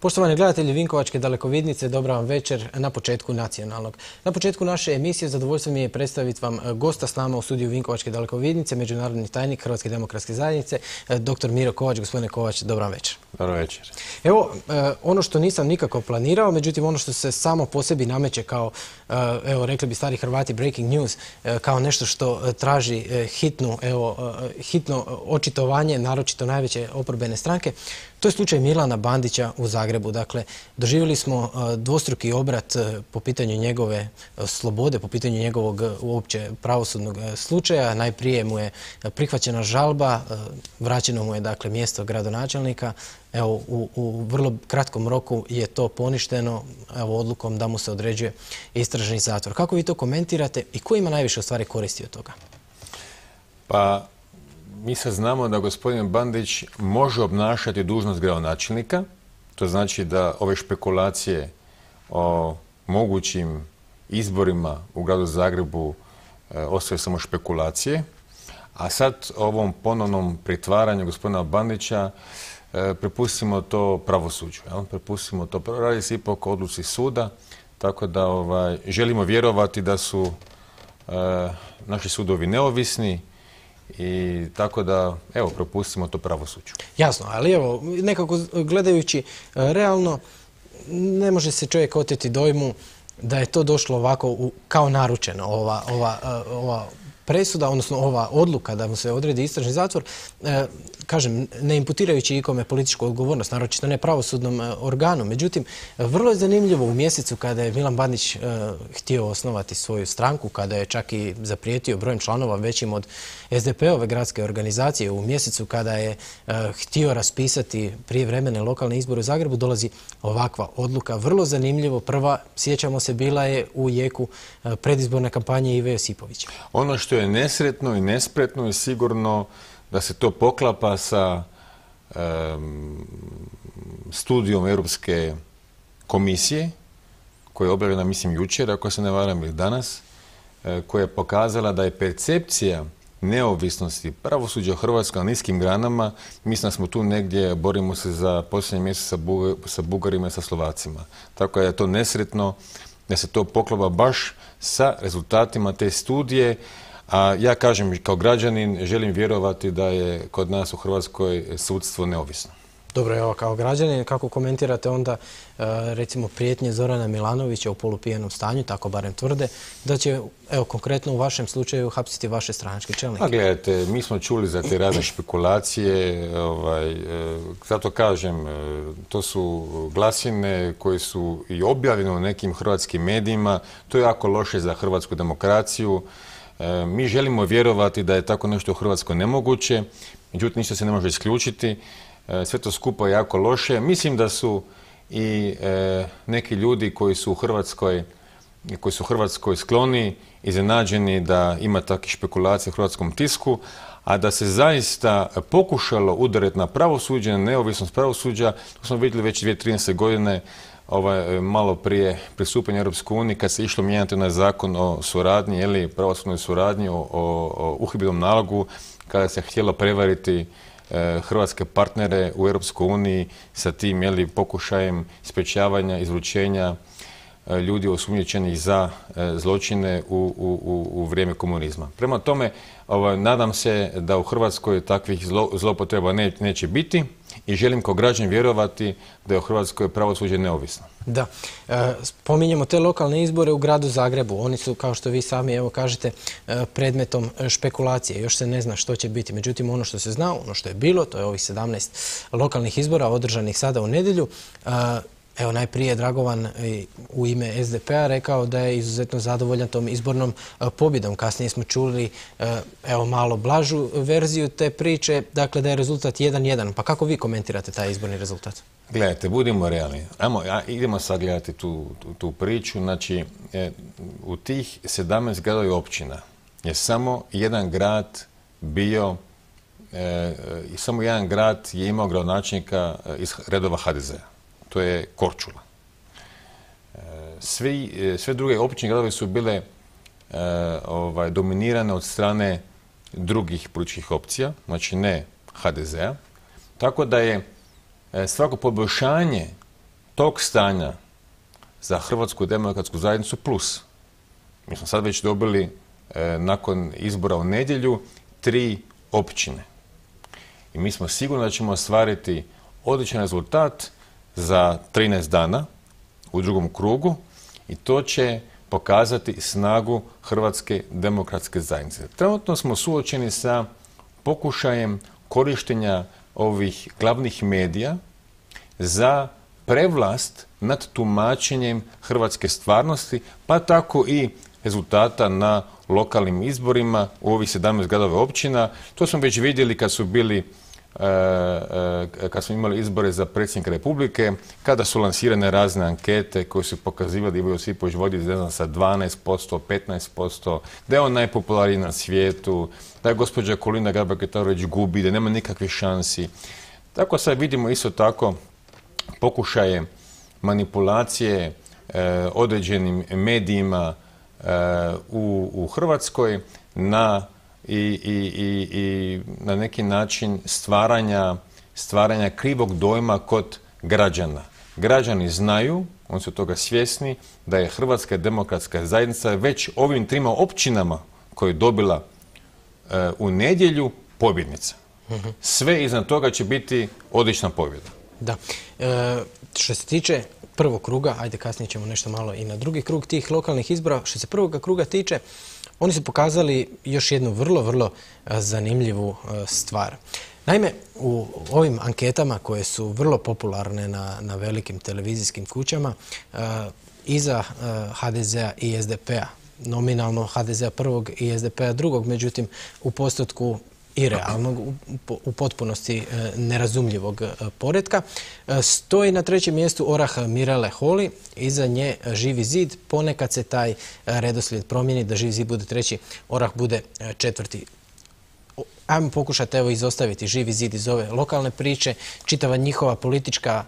Poštovani gledatelji Vinkovačke dalekovidnice, dobra vam večer na početku nacionalnog. Na početku naše emisije zadovoljstvo mi je predstaviti vam gosta s nama u studiju Vinkovačke dalekovidnice, međunarodni tajnik Hrvatske demokratske zajednice, dr. Miro Kovač. Gospodine Kovač, dobra vam večer. Dobro večer. Evo, ono što nisam nikako planirao, međutim ono što se samo po sebi nameće kao, evo rekli bi stari Hrvati, breaking news, kao nešto što traži hitno očitovanje, naročito najveće oporbene stranke, to je slučaj Milana Bandića u Zagrebu. Dakle, doživjeli smo dvostruki obrat po pitanju njegove slobode, po pitanju njegovog uopće pravosudnog slučaja. Najprije mu je prihvaćena žalba, vraćeno mu je dakle mjesto gradonačelnika. Evo, u vrlo kratkom roku je to poništeno, evo, odlukom da mu se određuje istražni zatvor. Kako vi to komentirate i ko ima najviše u stvari koristi od toga? Pa, mi sad znamo da gospodin Bandić može obnašati dužnost gradonačelnika. To znači da ove špekulacije o mogućim izborima u gradu Zagrebu ostaju samo špekulacije. A sad ovom ponovnom pritvaranju gospodina Bandića prepustimo to pravosuđu. Prepustimo to, radi se ipak o odluci suda, tako da želimo vjerovati da su naši sudovi neovisni i tako da, evo, prepustimo to pravosuđu. Jasno, ali evo, nekako gledajući realno, ne može se čovjek oteti dojmu da je to došlo ovako kao naručeno, ova presuda, odnosno ova odluka da mu se odredi istražni zatvor, kažem, ne imputirajući ikome političku odgovornost, naročito ne pravosudnom organu. Međutim, vrlo je zanimljivo u mjesecu kada je Milan Bandić htio osnovati svoju stranku, kada je čak i zaprijetio brojem članova većim od SDP-ove gradske organizacije, u mjesecu kada je htio raspisati prijevremene lokalne izbore u Zagrebu, dolazi ovakva odluka. Vrlo zanimljivo. Prva, sjećamo se, bila je u jeku predizborne kampanje Ive Josipovića. Ono što je nesretno i nespretno je sigurno da se to poklapa sa studijom Europske komisije, koja je objavljena, mislim, jučer, ako se ne varam, ili danas, koja je pokazala da je percepcija neovisnosti pravosuđa u Hrvatskoj na niskim granama. Mislim da smo tu negdje, borimo se za posljednji mjesec sa Bugarima i sa Slovacima. Tako da je to nesretno da se to poklapa baš sa rezultatima te studije. A ja kažem, kao građanin, želim vjerovati da je kod nas u Hrvatskoj sudstvo neovisno. Dobro, evo, kao građanin, kako komentirate onda, recimo, prijetnje Zorana Milanovića u polupijenom stanju, tako barem tvrde, da će, evo, konkretno u vašem slučaju hapsiti vaše stranačke čelnike? A gledajte, mi smo čuli za te razne špekulacije, zato kažem, to su glasine koje su i objavljene u nekim hrvatskim medijima, to je jako loše za hrvatsku demokraciju. Mi želimo vjerovati da je tako nešto u Hrvatskoj nemoguće, međutim ništa se ne može isključiti. Sve to skupo je jako loše. Mislim da su i neki ljudi koji su u Hrvatskoj skloni, iznenađeni da ima takvih špekulacija u hrvatskom tisku, a da se zaista pokušalo udariti na pravosuđe, na neovisnost pravosuđa, to smo vidjeli već 2013. godine, malo prije pristupanja Europskoj uniji, kad se išlo mijenjati na zakon o suradnji, pravosudnoj suradnji, o uhidbenom nalogu, kada se htjelo prevariti hrvatske partnere u Europskoj uniji sa tim pokušajem sprječavanja, izručenja ljudi osumnjičenih za zločine u vrijeme komunizma. Prema tome, nadam se da u Hrvatskoj takvih zloupotreba neće biti i želim kao građan vjerovati da je u Hrvatskoj pravosuđe neovisno. Da. Spominjemo te lokalne izbore u gradu Zagrebu. Oni su, kao što vi sami evo kažete, predmetom špekulacije. Još se ne zna što će biti. Međutim, ono što se zna, ono što je bilo, to je ovih 17 lokalnih izbora održanih sada u nedjelju. Evo, najprije Dragovan u ime SDP-a rekao da je izuzetno zadovoljan tom izbornom pobjedom. Kasnije smo čuli, evo, malo blažu verziju te priče, dakle da je rezultat 1:1. Pa kako vi komentirate taj izborni rezultat? Gledajte, budimo realni. Idemo sad gledati tu priču. Znači, u tih 17 gradova i općina je samo jedan grad bio, samo jedan grad je imao gradonačelnika iz redova HDZ-a. To je Korčula. Sve druge općine gradove su bile dominirane od strane drugih političkih opcija, znači ne HDZ-a. Tako da je svako poboljšanje tog stanja za Hrvatsku demokratsku zajednicu plus. Mi smo sad već dobili, nakon izbora u nedjelju, 3 općine. I mi smo sigurni da ćemo ostvariti odličan rezultat za 13 dana u drugom krugu i to će pokazati snagu Hrvatske demokratske zajednice. Trenutno smo suočeni sa pokušajem korištenja ovih glavnih medija za prevlast nad tumačenjem hrvatske stvarnosti, pa tako i rezultata na lokalnim izborima u ovih 17 gradova općina. To smo već vidjeli kad su bili kad smo imali izbore za predsjednika Republike, kada su lansirane razne ankete koje su pokazivali da Ivo Josipović vodi, ne znam, sa 12%, 15%, da je on najpopularniji na svijetu, da je gospođa Kolinda Grabar-Kitarović gubi, da nema nikakvih šansi. Tako sad vidimo isto tako pokušaje manipulacije određenim medijima u Hrvatskoj i na neki način stvaranja krivog dojma kod građana. Građani znaju, oni su toga svjesni, da je Hrvatska demokratska zajednica već ovim 3 općinama koje je dobila u nedjelju pobjednica. Sve iznad toga će biti odlična pobjeda. Da. Što se tiče prvog kruga, ajde kasnije ćemo nešto malo i na drugi krug tih lokalnih izbora, što se prvog kruga tiče, oni su pokazali još jednu vrlo zanimljivu stvar. Naime, u ovim anketama koje su vrlo popularne na velikim televizijskim kućama, iza HDZ-a i SDP-a, nominalno HDZ-a prvog i SDP-a drugog, međutim u postotku i realnog, u potpunosti nerazumljivog poretka, stoji na 3. mjestu orah Mirele Holy, iza nje Živi zid, ponekad se taj redoslijed promijeni, da Živi zid bude 3., orah bude 4. Ajmo pokušati izostaviti Živi zid iz ove lokalne priče, čitava njihova politička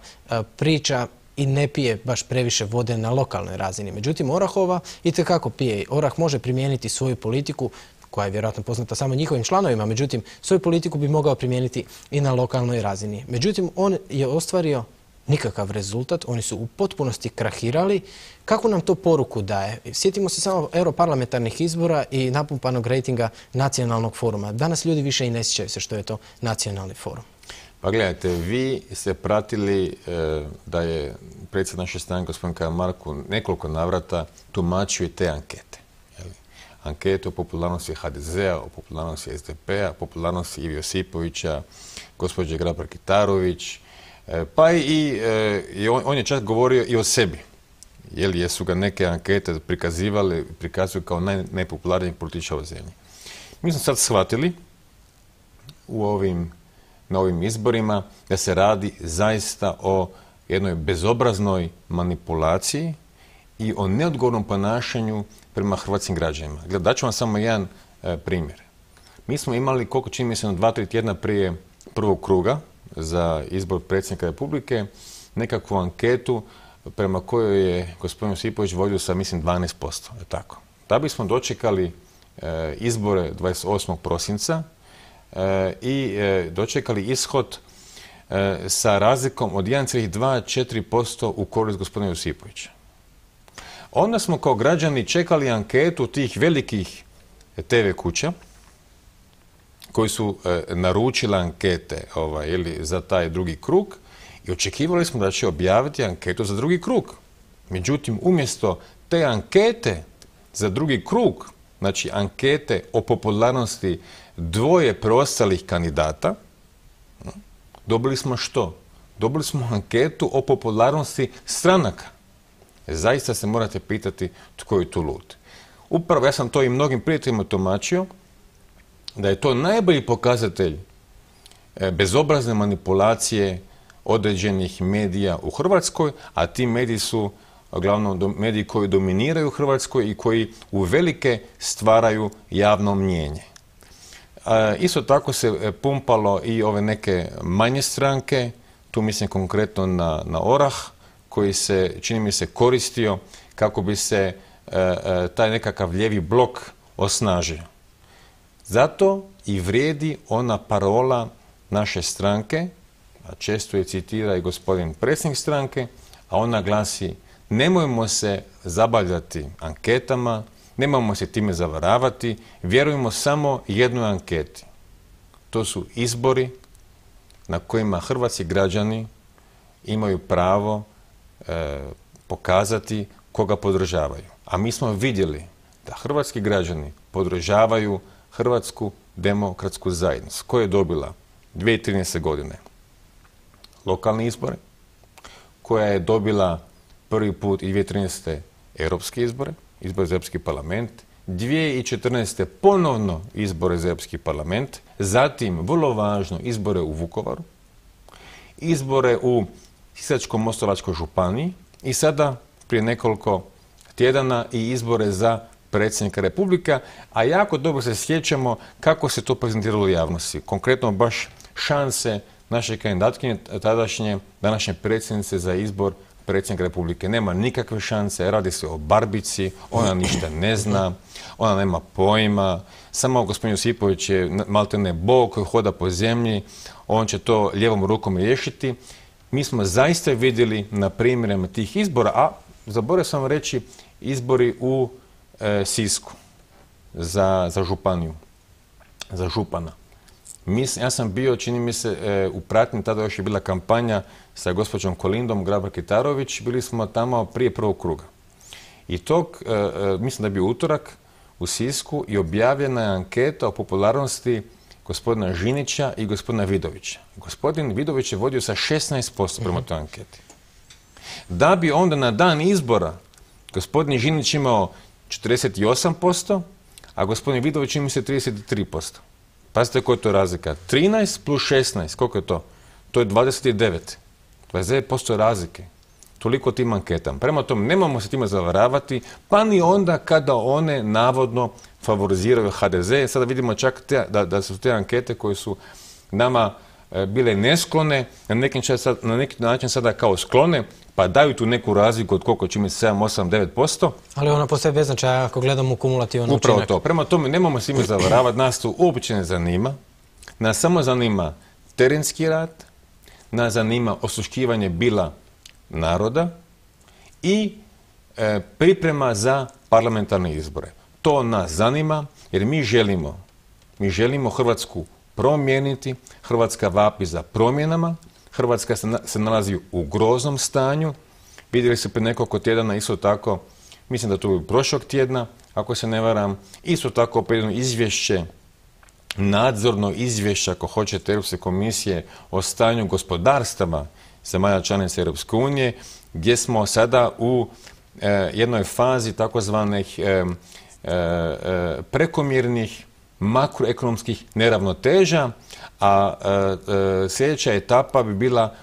priča i ne pije baš previše vode na lokalnoj razini. Međutim, Orahova itekako pije. Orah može primijeniti svoju politiku, koja je vjerojatno poznata samo njihovim članovima, međutim, svoju politiku bi mogao primijeniti i na lokalnoj razini. Međutim, on je ostvario nikakav rezultat, oni su u potpunosti krahirali. Kako nam to poruku daje? Sjetimo se samo europarlamentarnih izbora i napumpanog rejtinga Nacionalnog foruma. Danas ljudi više i ne sjećaju se što je to Nacionalni forum. Pa gledajte, vi ste pratili da je predsjednik naše stranke, gospodin Karamarko, nekoliko navrata tumačio i te ankete. Ankete o popularnosti HDZ-a, o popularnosti SDP-a, o popularnosti Ive Josipovića, gospođe Grabar-Kitarović, pa i on je čak govorio i o sebi. Jesu ga neke ankete prikazuju kao najpopularnijeg političara u zemlji. Mi smo sad shvatili na ovim izborima da se radi zaista o jednoj bezobraznoj manipulaciji i o neodgovornom ponašanju prema hrvatskim građanima. Daću vam samo jedan primjer. Mi smo imali, koliko čini mi se, 2-3 tjedna prije prvog kruga za izbor predsjednika Republike, nekakvu anketu prema kojoj je gospodin Josipović vodio sa, mislim, 12%. Tako. Da bismo dočekali izbore 28. prosinca i dočekali ishod sa razlikom od 1,24% u korist gospodina Josipovića. Onda smo kao građani čekali anketu tih velikih TV kuća koji su naručili ankete za taj drugi krug i očekivali smo da će objaviti anketu za drugi krug. Međutim, umjesto te ankete za drugi krug, znači ankete o popularnosti 2 preostalih kandidata, dobili smo što? Dobili smo anketu o popularnosti stranaka. Zaista se morate pitati tko je tu lud. Upravo ja sam to i mnogim prijateljima tumačio, da je to najbolji pokazatelj bezobrazne manipulacije određenih medija u Hrvatskoj, a ti mediji su uglavnom mediji koji dominiraju u Hrvatskoj i koji uvelike stvaraju javno mnijenje. Isto tako se pumpalo i ove neke manje stranke, tu mislim konkretno na Orah, koji se, čini mi se, koristio kako bi se taj nekakav lijevi blok osnažio. Zato i vrijedi ona parola naše stranke, a često je citira i gospodin predsjednik stranke, a ona glasi: nemojmo se zabavljati anketama, nemojmo se time zavaravati, vjerujemo samo jednoj anketi. To su izbori na kojima hrvatski građani imaju pravo pokazati koga podržavaju. A mi smo vidjeli da hrvatski građani podržavaju Hrvatsku demokratsku zajednicu, koja je dobila 2013. godine lokalne izbore, koja je dobila prvi put i 2013. europske izbore, izbore za Europski parlament, 2014. ponovno izbore za Europski parlament, zatim, vrlo važno, izbore u Vukovaru, izbore u Sisačko-moslavačkoj županiji i sada, prije nekoliko tjedana, i izbore za predsjednika Republika, a jako dobro se sjećamo kako se to prezentiralo u javnosti. Konkretno baš šanse naše kandidatkinje, tadašnje, današnje predsjednice za izbor predsjednika Republike. Nema nikakve šanse, radi se o barbici, ona ništa ne zna, ona nema pojma, samo gospodin Josipović je maltene bog koji hoda po zemlji, on će to lijevom rukom riješiti. Mi smo zaista vidjeli na primjerima tih izbora, a zaboravio sam reći, izbori u Sisku za županiju, za župana. Ja sam bio, čini mi se, u pratnji, tada još je bila kampanja sa gospođom Kolindom Grabar-Kitarović, bili smo tamo prije prvog kruga. I mislim da je bio utorak u Sisku i objavljena je anketa o popularnosti gospodina Žinića i gospodina Vidovića. Gospodin Vidović je vodio sa 16% prema toj anketi. Da bi onda na dan izbora gospodin Žinić imao 48%, a gospodin Vidović ima 33%. Pazite koja je to razlika. 13 plus 16, koliko je to? To je 29. 29% razlike. Toliko tim anketama. Prema tome, nemamo se time zavaravati, pa ni onda kada one navodno favoriziraju HDZ. Sada vidimo čak da su te ankete koje su nama bile nesklone, na neki način sada kao sklone, pa daju tu neku razliku od koliko će imati 7, 8, 9%. Ali ona postaje bez značaja ako gledamo kumulativan učinak. Upravo to. Prema tome, nemamo se ime zavaravati, nas to uopće ne zanima. Nas samo zanima terenski rad, nas zanima osluškivanje bila naroda i priprema za parlamentarne izbore. To nas zanima jer mi želimo Hrvatsku promijeniti, Hrvatska vapi za promjenama, Hrvatska se nalazi u groznom stanju. Vidjeli se prije nekoliko tjedana isto tako, mislim da to je prošlog tjedna, ako se ne varam, isto tako jedno izvješće, nadzorno izvješće, ako hoćete, Europske komisije o stanju gospodarstava zemalja članica Europske unije, gdje smo sada u jednoj fazi takozvanih prekomjernih makroekonomskih neravnoteža, a sljedeća etapa bi bila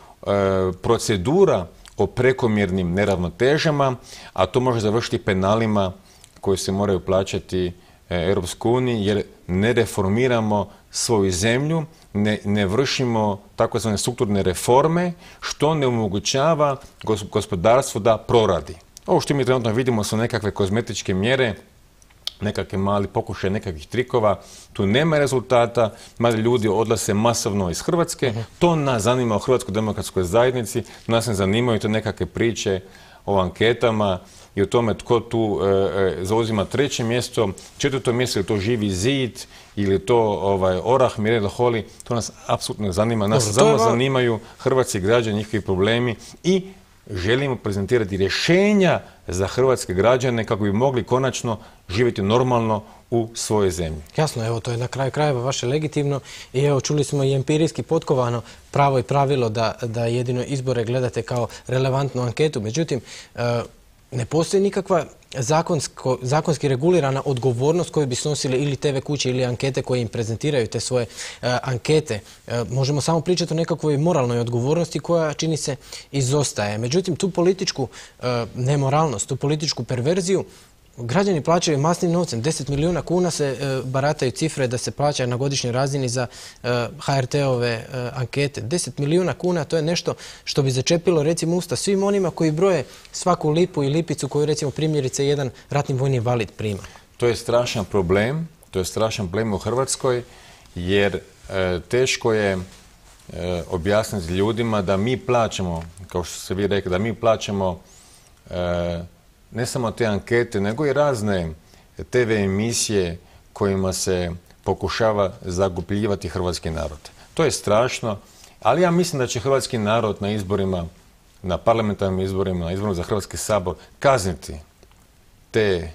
procedura o prekomjernim neravnotežama, a to može završiti penalima koji se moraju plaćati Europskoj uniji jer ne reformiramo svoju zemlju, ne vršimo takozvane strukturne reforme, što ne omogućava gospodarstvu da proradi. Ovo što mi trenutno vidimo su nekakve kozmetičke mjere, nekakve mali pokušaj nekakvih trikova, tu nema rezultata, mali ljudi odlaze masovno iz Hrvatske, to nas zanima u Hrvatskoj demokratskoj zajednici, nas ne zanimaju te nekakve priče o anketama i o tome tko tu zauzima 3. mjesto, 4. mjesto, je to Živi zid ili to Orah, Mirela Holy, to nas apsolutno ne zanima, nas samo zanimaju hrvatski građani, njihovi problemi i želimo prezentirati rješenja za hrvatske građane kako bi mogli konačno živjeti normalno u svojoj zemlji. Jasno, evo, to je na kraju krajeva vaše legitimno i evo, čuli smo i empirijski potkovano pravo i pravilo da jedino izbore gledate kao relevantnu anketu. Međutim, ne postoji nikakva zakonski regulirana odgovornost koju bi snosili ili TV kuće ili ankete koje im prezentiraju te svoje ankete. Možemo samo pričati o nekakvoj moralnoj odgovornosti koja, čini se, izostaje. Međutim, tu političku nemoralnost, tu političku perverziju građani plaćaju masnim novcem. 10 milijuna kuna se barataju cifre da se plaća na godišnjoj razini za HRT-ove ankete. 10 milijuna kuna, to je nešto što bi začepilo, recimo, usta svim onima koji broje svaku lipu i lipicu koju, recimo, primjerice jedan ratni vojni invalid prima. To je strašan problem u Hrvatskoj jer teško je objasniti ljudima da mi plaćamo, kao što ste vi rekli, da mi plaćamo ne samo te ankete, nego i razne TV emisije kojima se pokušava zagubljivati hrvatski narod. To je strašno, ali ja mislim da će hrvatski narod na izborima, na parlamentarnim izborima, na izborima za Hrvatski sabor kazniti te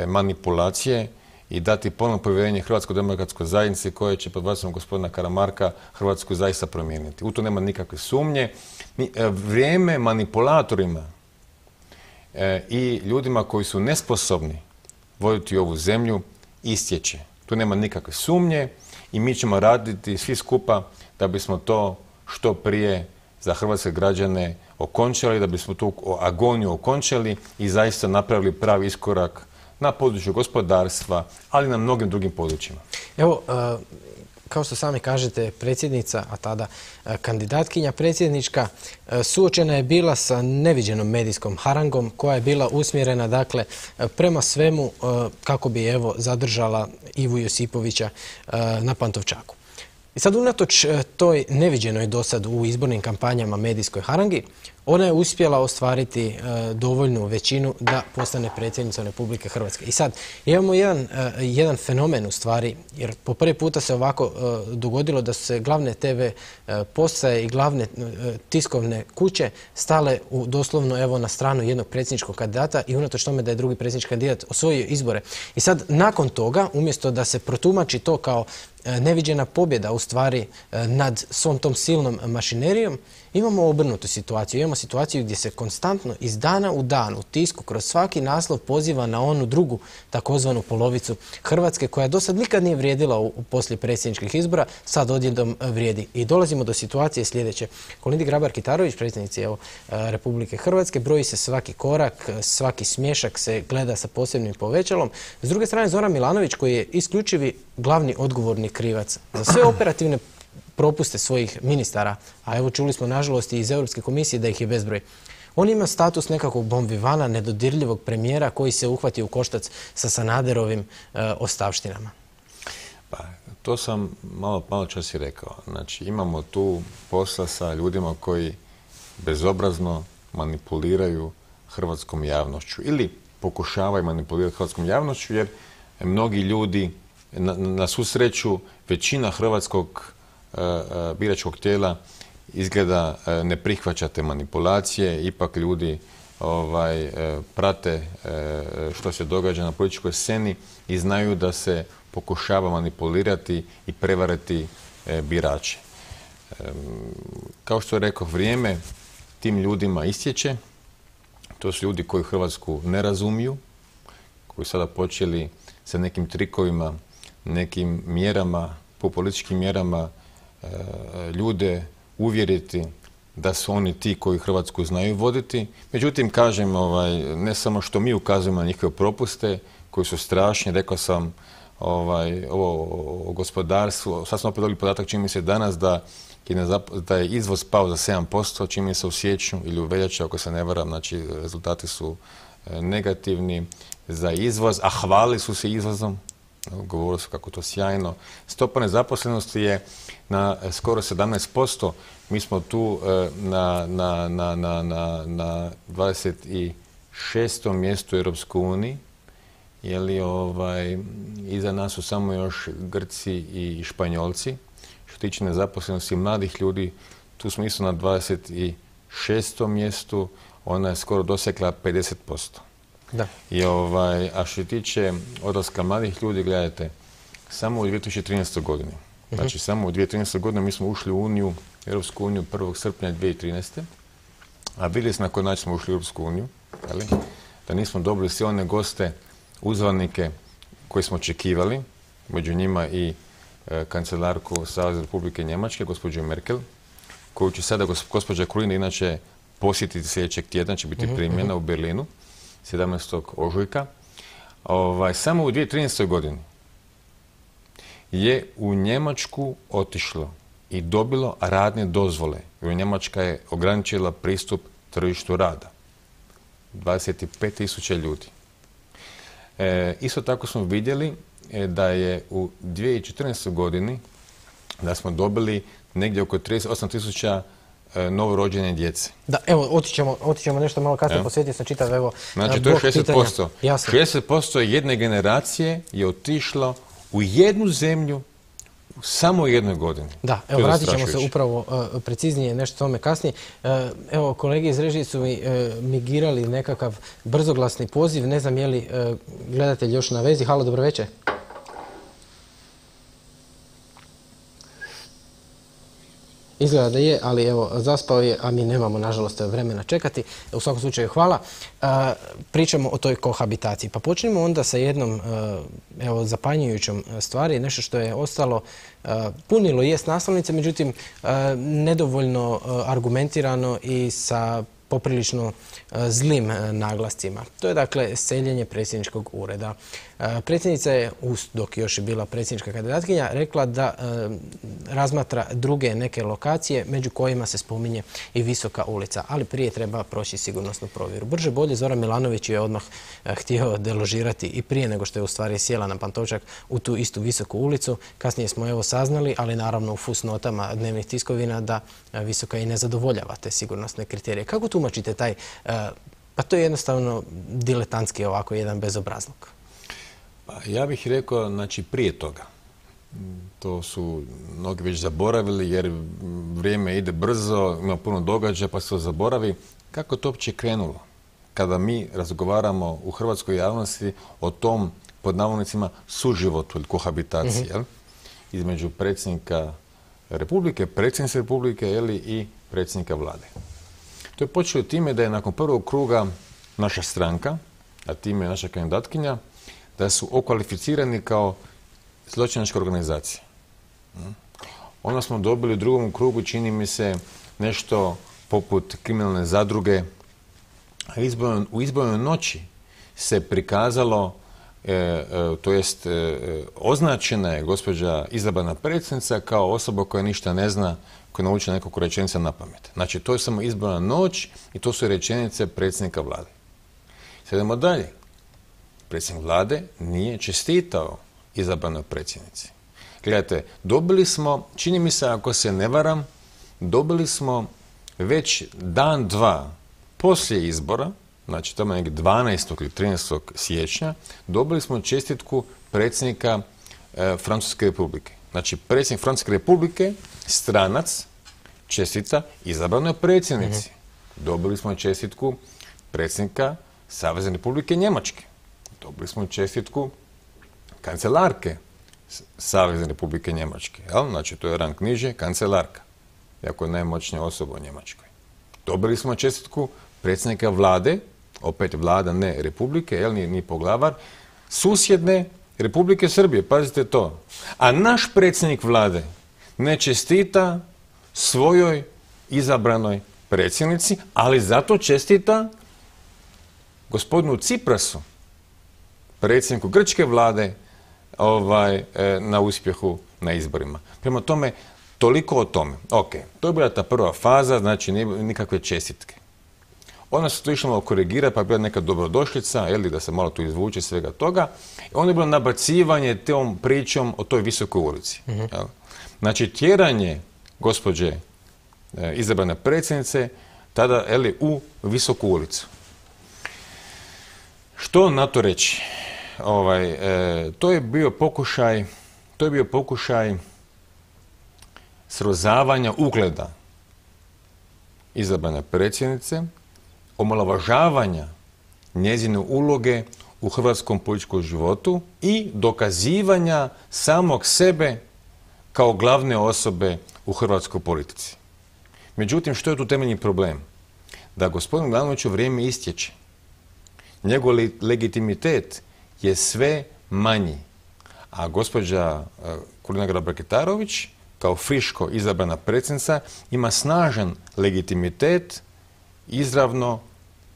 manipulacije i dati ponovno povjerenje Hrvatskoj demokratskoj zajednici koja će pod vodstvom gospodina Karamarka Hrvatsku zaista promijeniti. U to nema nikakve sumnje. Vrijeme manipulatorima i ljudima koji su nesposobni voditi ovu zemlju istječe. Tu nema nikakve sumnje i mi ćemo raditi svi skupa da bismo to što prije za hrvatske građane okončali, da bismo tu agoniju okončali i zaista napravili pravi iskorak na području gospodarstva, ali na mnogim drugim područjima. Evo, kao što sami kažete, predsjednica, a tada kandidatkinja predsjednička, suočena je bila sa neviđenom medijskom harangom koja je bila usmjerena, dakle, prema svemu kako bi, evo, zadržala Ivu Josipovića na Pantovčaku. I sad, unatoč toj neviđenoj dosad u izbornim kampanjama medijskoj harangi, ona je uspjela ostvariti dovoljnu većinu da postane predsjednicom Republike Hrvatske. I sad, imamo jedan fenomen u stvari, jer po prvi puta se ovako dogodilo da su se glavne TV postaje i glavne tiskovne kuće stale doslovno, evo, na stranu jednog predsjedničkog kandidata i unatoč tome da je drugi predsjednički kandidat osvojio izbore. I sad, nakon toga, umjesto da se protumači to kao neviđena pobjeda u stvari nad svom tom silnom mašinerijom, imamo obrnutu situaciju. Imamo situaciju gdje se konstantno iz dana u dan u tisku kroz svaki naslov poziva na onu drugu takozvanu polovicu Hrvatske koja do sad nikad nije vrijedila poslije predsjedničkih izbora, sad odjednom vrijedi. I dolazimo do situacije sljedeće. Kolindi Grabar-Kitarović, predsjednici Republike Hrvatske, broji se svaki korak, svaki smješak se gleda sa posebnim povećalom. S druge strane, Zoran Milanović, koji je isključivi glavni odgovorni krivac za sve operativne propuste svojih ministara, a evo čuli smo nažalost i iz Europske komisije da ih je bezbroj. On ima status nekakvog bonvivana, nedodirljivog premijera koji se uhvati u koštac sa Sanaderovim ostavštinama. Pa, to sam malo čas i rekao. Znači, imamo tu posla sa ljudima koji bezobrazno manipuliraju hrvatskom javnošću ili pokušavaju manipulirati hrvatskom javnošću, jer mnogi ljudi, na svu sreću, većina hrvatskog biračkog tijela izgleda ne prihvaća te manipulacije, ipak ljudi prate što se događa na političkoj sceni i znaju da se pokušava manipulirati i prevariti birače. Kao što je rekao, vrijeme tim ljudima istječe. To su ljudi koji Hrvatsku ne razumiju, koji sada počeli sa nekim trikovima, nekim mjerama, populističkim mjerama ljude uvjeriti da su oni ti koji Hrvatsku znaju voditi. Međutim, kažem, ne samo što mi ukazujemo na njihove propuste koji su strašni, rekao sam ovo gospodarstvo, sad smo opet dobili podatak, čini mi se danas da je izvoz pao za 7%, čini mi se u siječnju ili u veljači, ako se ne varam, znači rezultati su negativni za izvoz, a hvalili su se izvozom. Govorilo su kako to sjajno. Stopa nezaposlenosti je na skoro 17%. Mi smo tu na 26. mjestu u Europskoj uniji. Iza nas su samo još Grci i Španjolci. Što tiče nezaposlenosti mladih ljudi, tu smo isto na 26. mjestu. Ona je skoro dosegla 50%. Da. A što se tiče odlaska mladih ljudi, gledajte, samo u 2013. godini. Znači, samo u 2013. godini mi smo ušli u Uniju, Europsku uniju 1. srpnja 2013. A vidjeli smo na koji način smo ušli u Europsku uniju, da nismo dobili sve one goste, uzvanike koje smo očekivali, među njima i kancelarku Savezne Republike Njemačke, gospođu Merkel, koju će sada gospođa Krulina inače posjetiti sljedećeg tjedna, će biti primljena u Berlinu. 17. ožujka. Samo u 2013. godini je u Njemačku otišlo i dobilo radne dozvole. Njemačka je ograničila pristup tržištu rada. 25.000 ljudi. Isto tako smo vidjeli da je u 2014. godini da smo dobili negdje oko 38.000 novorođene djece. Da, evo, otićemo nešto malo kasnije, posjetio sam čitav, evo, znači, to je 60%. 60% jedne generacije je otišlo u jednu zemlju u samo jednoj godini. Da, evo, vratit ćemo se upravo preciznije nešto tome kasnije. Evo, kolege iz režije su mi migirali nekakav brzoglasni poziv. Ne znam je li gledatelj još na vezi. Halo, dobro večer. Izgleda da je, ali evo, zaspao je, a mi nemamo, nažalost, vremena čekati. U svakom slučaju, hvala. Pričamo o toj kohabitaciji. Pa počnemo onda sa jednom, evo, zapanjujućom stvari, nešto što je ostalo, punilo jest naslovnice, međutim, nedovoljno argumentirano i sa poprilično zlim naglascima. To je, dakle, seljenje predsjedničkog ureda. Predsjednica je, dok još je bila predsjednička kandidatkinja, rekla da razmatra druge neke lokacije, među kojima se spominje i Visoka ulica. Ali prije treba proći sigurnosnu provjeru. Brže bolje, Zoran Milanović je odmah htio deložirati i prije nego što je u stvari sjela na Pantovčak u tu istu Visoku ulicu. Kasnije smo evo saznali, ali naravno u fusnotama dnevnih tiskovina, da Visoka i ne zadovoljava te sigurnosne kriterije. Kako tumačite taj, pa to je jednostavno diletantski ovako jedan bezobrazluk? Ja bih rekao, znači, prije toga. To su mnogi već zaboravili jer vrijeme ide brzo, ima puno događaja pa se to zaboravi. Kako to uopće krenulo? Kada mi razgovaramo u hrvatskoj javnosti o tom, pod navodnicima, suživotu ili kohabitaciji, između predsjednika Republike, predsjednice Republike i predsjednika vlade. To je počelo time da je nakon prvog kruga naša stranka, a time je naša kandidatkinja, da su okvalificirani kao zločinačka organizacija. Onda smo dobili u drugom krugu, čini mi se, nešto poput kriminalne zadruge. U izbornoj noći se prikazalo, to jest označena je gospođa izabrana predsjednica kao osoba koja ništa ne zna, koja je naučila nekoliko rečenica na pamet. Znači, to je samo izborna noć i to su rečenice predsjednika vlade. Sad idemo dalje. Predsjednik vlade nije čestitao izabranoj predsjednici. Gledajte, dobili smo, čini mi se, ako se ne varam, dobili smo već dan, dva poslije izbora, znači tamo negdje 12. ili 13. siječnja, dobili smo čestitku predsjednika Francuske republike. Znači, predsjednik Francuske republike, stranac, čestita izabranoj predsjednici. Dobili smo čestitku predsjednika Savezne republike Njemačke. Dobili smo čestitku kancelarke Savezne republike Njemačke. Znači, to je rang niže, kancelarka. Jako je najmoćnija osoba u Njemačkoj. Dobili smo čestitku predsjednika vlade, opet vlada, ne republike, ni poglavar, susjedne Republike Srbije, pazite to. A naš predsjednik vlade ne čestita svojoj izabranoj predsjednici, ali zato čestita gospodinu Ciprasu, predsjedniku grčke vlade, na uspjehu na izborima. Prema tome, toliko o tome. Ok, to je bila ta prva faza, znači nikakve čestitke. Onda se to išlo malo korigirati, pa je bila neka dobrodošlica, da se malo tu izvuče svega toga. I onda je bilo nabacivanje tom pričom o toj Visokoj ulici. Znači, tjeranje gospođe izabrane predsjednice tada u Visoku ulicu. Što na to reći? To je bio pokušaj srozavanja ugleda izabrane predsjednice, omalovažavanja njezine uloge u hrvatskom političkom životu i dokazivanja samog sebe kao glavne osobe u hrvatskoj politici. Međutim, što je tu temeljni problem? Da gospodin Milanoviću vrijeme istječe. Njegov legitimitet je sve manji. A gospođa Kolinda Grabar-Kitarović, kao friško izabrana predsjednica, ima snažan legitimitet izravno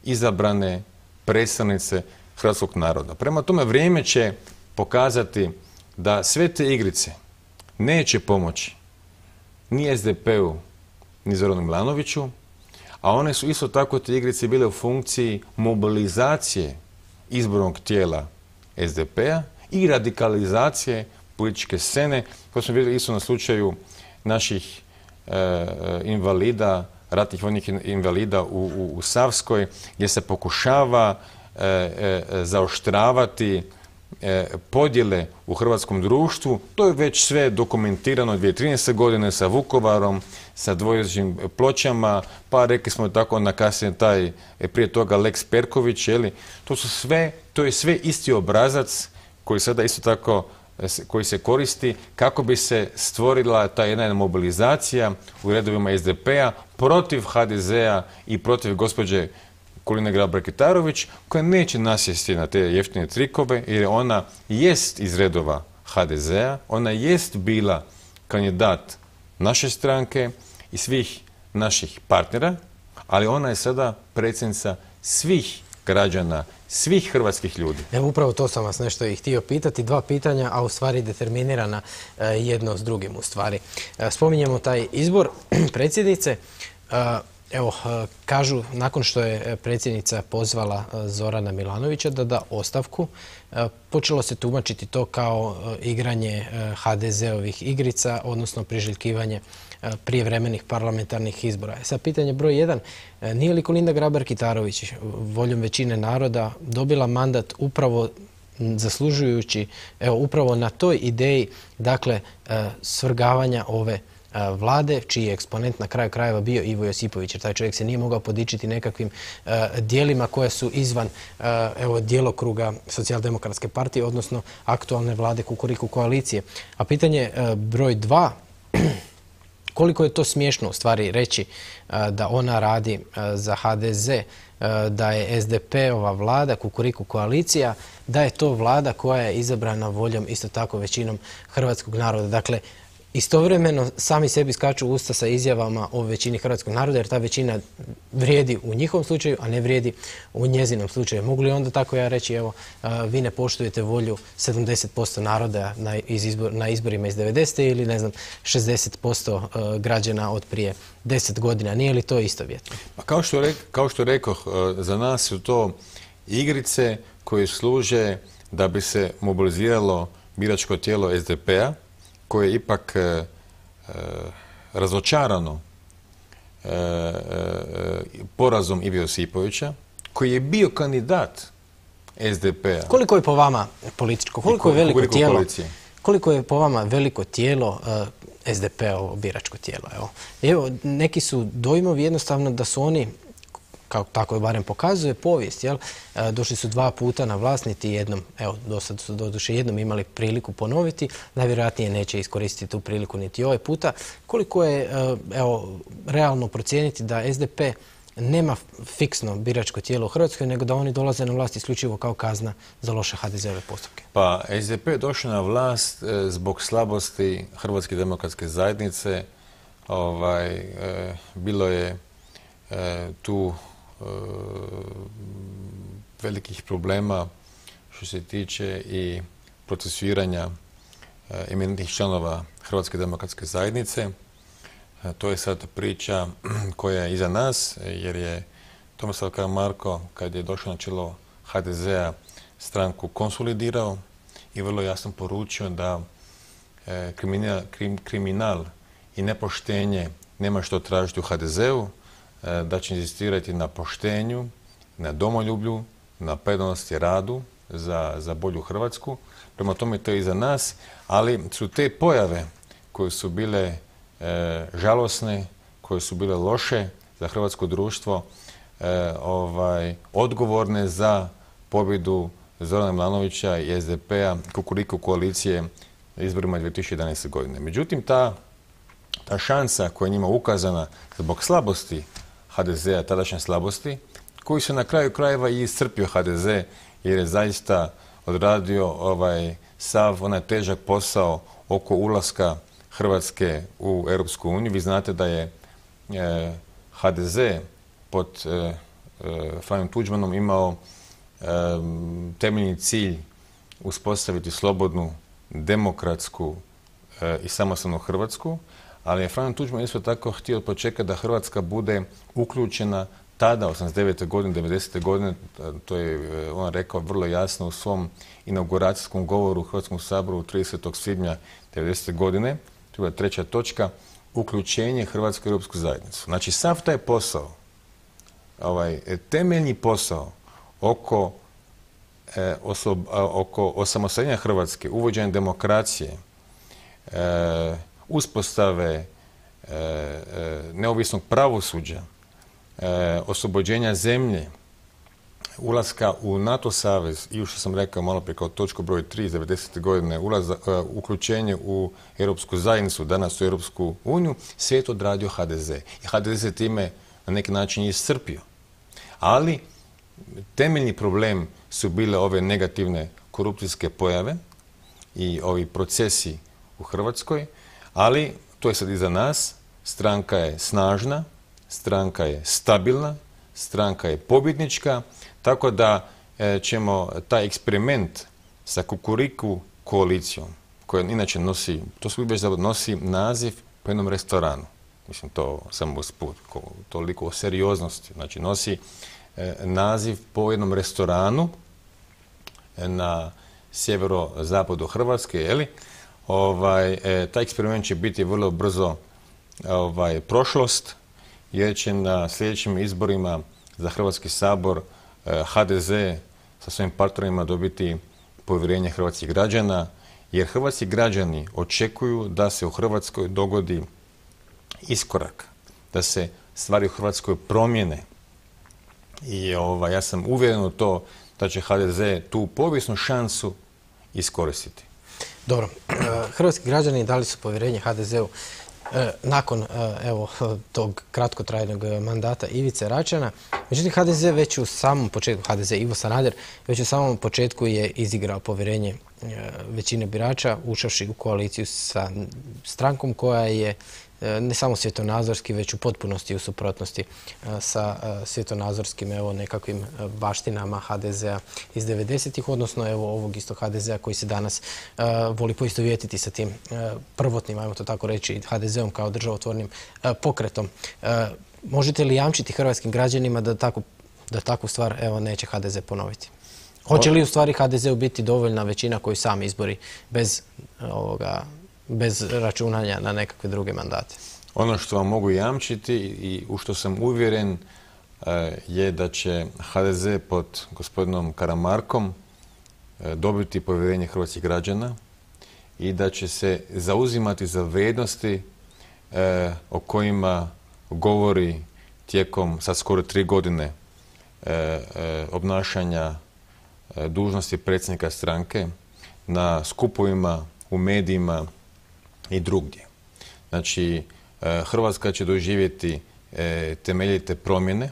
izabrane predstavnice hrvatskog naroda. Prema tome, vrijeme će pokazati da sve te igrice neće pomoći ni SDP-u, ni Zoranu Milanoviću, a one su isto tako te igrice bile u funkciji mobilizacije izbornog tijela SDP-a i radikalizacije političke scene. To smo vidjeli isto na slučaju naših invalida, ratnih vojnih invalida u Savskoj, gdje se pokušava zaoštravati podjele u hrvatskom društvu. To je već sve dokumentirano 2013. godine sa Vukovarom, sa dvojezičnim pločama, pa rekli smo tako onda kasnije prije toga Lex Perković, to je sve isti obrazac koji sada isto tako koji se koristi kako bi se stvorila ta jedna mobilizacija u redovima SDP-a protiv HDZ-a i protiv gospođe Kolinde Grabar-Kitarović, koja neće nasjesti na te jeftine trikove, jer ona jest iz redova HDZ-a, ona jest bila kandidat naše stranke i svih naših partnera, ali ona je sada predsjednica svih građana, svih hrvatskih ljudi. Evo, upravo to sam vas nešto i htio pitati. Dva pitanja, a u stvari determinirana jedno s drugim u stvari. Spominjemo taj izbor predsjednice. Evo, kažu, nakon što je predsjednica pozvala Zorana Milanovića da da ostavku, počelo se tumačiti to kao igranje HDZ-ovih igrica, odnosno priželjkivanje prijevremenih parlamentarnih izbora. Sad pitanje broj 1, nije li Kolinda Grabar-Kitarović voljom većine naroda dobila mandat upravo zaslužujući, evo, upravo na toj ideji, dakle, svrgavanja ove vlade, čiji je eksponent na kraju krajeva bio Ivo Josipović, jer taj čovjek se nije mogao podičiti nekakvim dijelima koje su izvan djelokruga Socijaldemokratske partije, odnosno aktualne vlade Kukuriku koalicije. A pitanje broj 2, koliko je to smiješno u stvari reći da ona radi za HDZ, da je SDP-ova vlada, Kukuriku koalicija, da je to vlada koja je izabrana voljom isto tako većinom hrvatskog naroda. Dakle, istovremeno sami sebi skaču u usta sa izjavama o većini hrvatskog naroda, jer ta većina vrijedi u njihovom slučaju, a ne vrijedi u njezinom slučaju. Mogu li onda tako ja reći, evo, vi ne poštujete volju 70% naroda na izborima iz 90. ili, ne znam, 60% građana od prije 10 godina. Nije li to istovjetno? Pa kao što rekoh, za nas su to igrice koje služe da bi se mobiliziralo biračko tijelo SDP-a, koje je ipak razočarano porazom Ive Josipovića, koji je bio kandidat SDP-a. Koliko je po vama političko, koliko je po vama veliko tijelo SDP-ovo biračko tijelo? Evo, neki su dojmovi jednostavno da su oni, kako tako je barem pokazuje povijest, došli su 2 puta na vlast, niti jednom, evo, do sad su doduše jednom imali priliku ponoviti, najvjerojatnije neće iskoristiti tu priliku niti ovaj puta. Koliko je, evo, realno procijeniti da SDP nema fiksno biračko tijelo u Hrvatskoj, nego da oni dolaze na vlast isključivo kao kazna za loše HDZ-ove postupke? Pa, SDP je došao na vlast zbog slabosti Hrvatske demokratske zajednice. Bilo je tu velikih problema što se tiče i procesuiranja eminentnih članova Hrvatske demokratske zajednice. To je sad priča koja je iza nas, jer je Tomislav Karamarko, kad je došao na čelo HDZ-a, stranku konsolidirao i vrlo jasno poručio da kriminal i nepoštenje nema što tražiti u HDZ-u, da će inzistirati na poštenju, na domoljublju, na predanosti radu za bolju Hrvatsku. Prema tome to je iza nas, ali su te pojave koje su bile žalosne, koje su bile loše za hrvatsko društvo, odgovorne za pobjedu Zorana Milanovića i SDP-a, Kukuriku koalicije na izborima 2011. godine. Međutim, ta šansa koja je njima ukazana zbog slabosti HDZ-a, tadašnje slabosti, koji su na kraju krajeva i iscrpio HDZ, jer je zaista odradio sav onaj težak posao oko ulaska Hrvatske u Europsku uniju. Vi znate da je HDZ pod Franjom Tuđmanom imao temeljni cilj uspostaviti slobodnu, demokratsku i samostalnu Hrvatsku, ali je Franjo Tuđman isto tako htio počekati da Hrvatska bude uključena tada, 89. godine, 90. godine, to je on rekao vrlo jasno u svom inauguracijskom govoru u Hrvatskom saboru 30. svibnja 90. godine, to je treća točka, uključenje Hrvatske u Europsku zajednicu. Znači, sav taj posao, temeljni posao oko osamostaljenja Hrvatske, uvođenja demokracije, uspostave neovisnog pravosuđa, oslobođenja zemlje, ulaska u NATO savez i što sam rekao malo prije kao točku broj 3 iz 90. godine, uključenje u Europsku zajednicu, danas u Europsku uniju, sve je to odradio HDZ. I HDZ se time na neki način iscrpio. Ali temeljni problem su bile ove negativne korupcijske pojave i ovi procesi u Hrvatskoj, ali to je sad iza nas, stranka je snažna, stranka je stabilna, stranka je pobjednička, tako da ćemo taj eksperiment sa Kukuriku koalicijom, koja inače nosi, to su već nosi naziv po jednom restoranu, mislim to samo usput, toliko o serioznosti, znači nosi naziv po jednom restoranu na sjeverozapadu Hrvatske, jeli? Taj eksperiment će biti vrlo brzo prošlost, jer će na sljedećim izborima za Hrvatski sabor HDZ sa svojim partnerima dobiti povjerenje hrvatskih građana, jer hrvatski građani očekuju da se u Hrvatskoj dogodi iskorak, da se stvari u Hrvatskoj promijene. I ja sam uvjeren u to da će HDZ tu povijesnu šansu iskoristiti. Dobro, hrvatski građani dali su povjerenje HDZ-u nakon tog kratkotrajnog mandata Ivice Račana. Međutim, HDZ već u samom početku, HDZ Ivo Sanader, već u samom početku je izigrao povjerenje većine birača, ušavši u koaliciju sa strankom koja je ne samo svjetonazorski, već u potpunosti u suprotnosti sa svjetonazorskim nekakvim baštinama HDZ-a iz 90-ih, odnosno ovog istog HDZ-a koji se danas voli poistovjetiti sa tim prvotnim, ajmo to tako reći, HDZ-om kao državotvornim pokretom. Možete li jamčiti hrvatskim građanima da takvu stvar neće HDZ ponoviti? Hoće li u stvari HDZ-u biti dovoljna većina koju sam izbori bez računanja na nekakve druge mandate? Ono što vam mogu jamčiti i u što sam uvjeren je da će HDZ pod gospodinom Karamarkom dobiti povjerenje hrvatskih građana i da će se zauzimati za vrijednosti o kojima govori tijekom sad skoro 3 godine obnašanja dužnosti predsjednika stranke na skupovima, u medijima i drugdje. Znači, Hrvatska će doživjeti temeljite promjene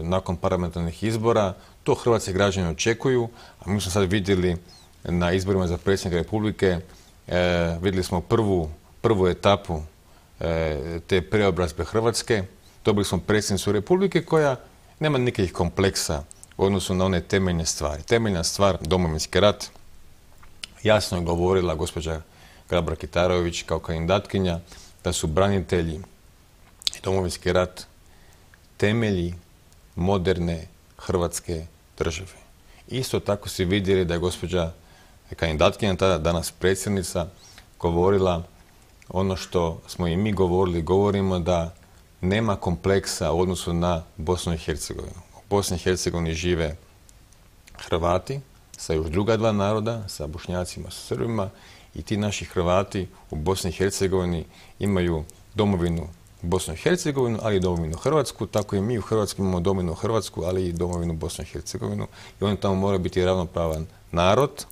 nakon parlamentarnih izbora. To hrvatski građani očekuju, a mi smo sad vidjeli na izborima za predsjednika Republike, vidjeli smo prvu etapu te preobrazbe Hrvatske. Dobili smo predsjednicu Republike koja nema nikakvih kompleksa u odnosu na one temeljne stvari. Temeljna stvar, Domovinski rat, jasno je govorila gospođa Grabar-Kitarović kao kandidatkinja da su branitelji i Domovinski rat temelji moderne Hrvatske države. Isto tako se vidjeli da je gospođa kandidatkinja, tada danas predsjednica, govorila ono što smo i mi govorili, govorimo da nema kompleksa u odnosu na Bosnu i Hercegovinu. U Bosni i Hercegovini žive Hrvati sa još druga dva naroda, sa Bošnjacima, sa Srbima, i ti naši Hrvati u Bosni i Hercegovini imaju domovinu Bosnu i Hercegovinu, ali i domovinu Hrvatsku, tako i mi u Hrvatskoj imamo domovinu Hrvatsku, ali i domovinu Bosnu i Hercegovinu, i on tamo mora biti ravnopravan narod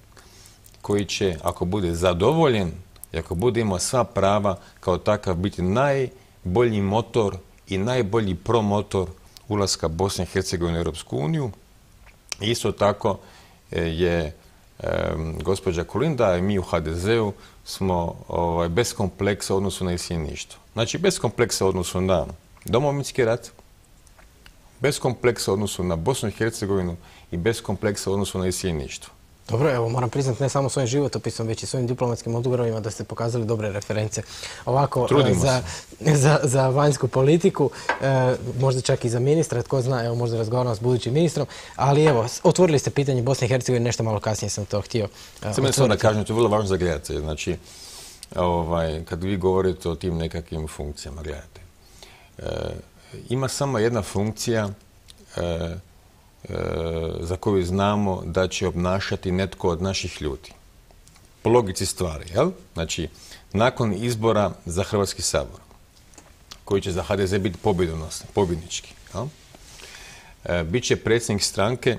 koji će, ako bude zadovoljen i ako bude imao sva prava, kao takav biti najbolji motor i najbolji promotor ulaska Bosne i Hercegovine u Europsku uniju. Isto tako je gospođa Kolinda i mi u HDZ-u smo bez kompleksa u odnosu na iseljeništvo. Znači, bez kompleksa u odnosu na Domovinski rat, bez kompleksa u odnosu na Bosnu i Hercegovinu i bez kompleksa u odnosu na iseljeništvo. Dobro, evo moram priznati ne samo svojim životopisom, već i svojim diplomatskim odgovorima da ste pokazali dobre reference. Ovako, za vanjsku politiku, možda čak i za ministra, tko zna, evo možda razgovaramo s budućim ministrom, ali evo, otvorili ste pitanje Bosne i Hercegovine, nešto malo kasnije sam to htio otvoriti. Samo da kažem, to je vrlo važno za gledatelje. Znači, kad vi govorite o tim nekakvim funkcijama, gledajte, ima samo jedna funkcija za koju znamo da će obnašati netko od naših ljudi. Po logici stvari, jel? Znači, nakon izbora za Hrvatski sabor, koji će za HDZ biti pobjednički, jel? Bit će predsjednik stranke,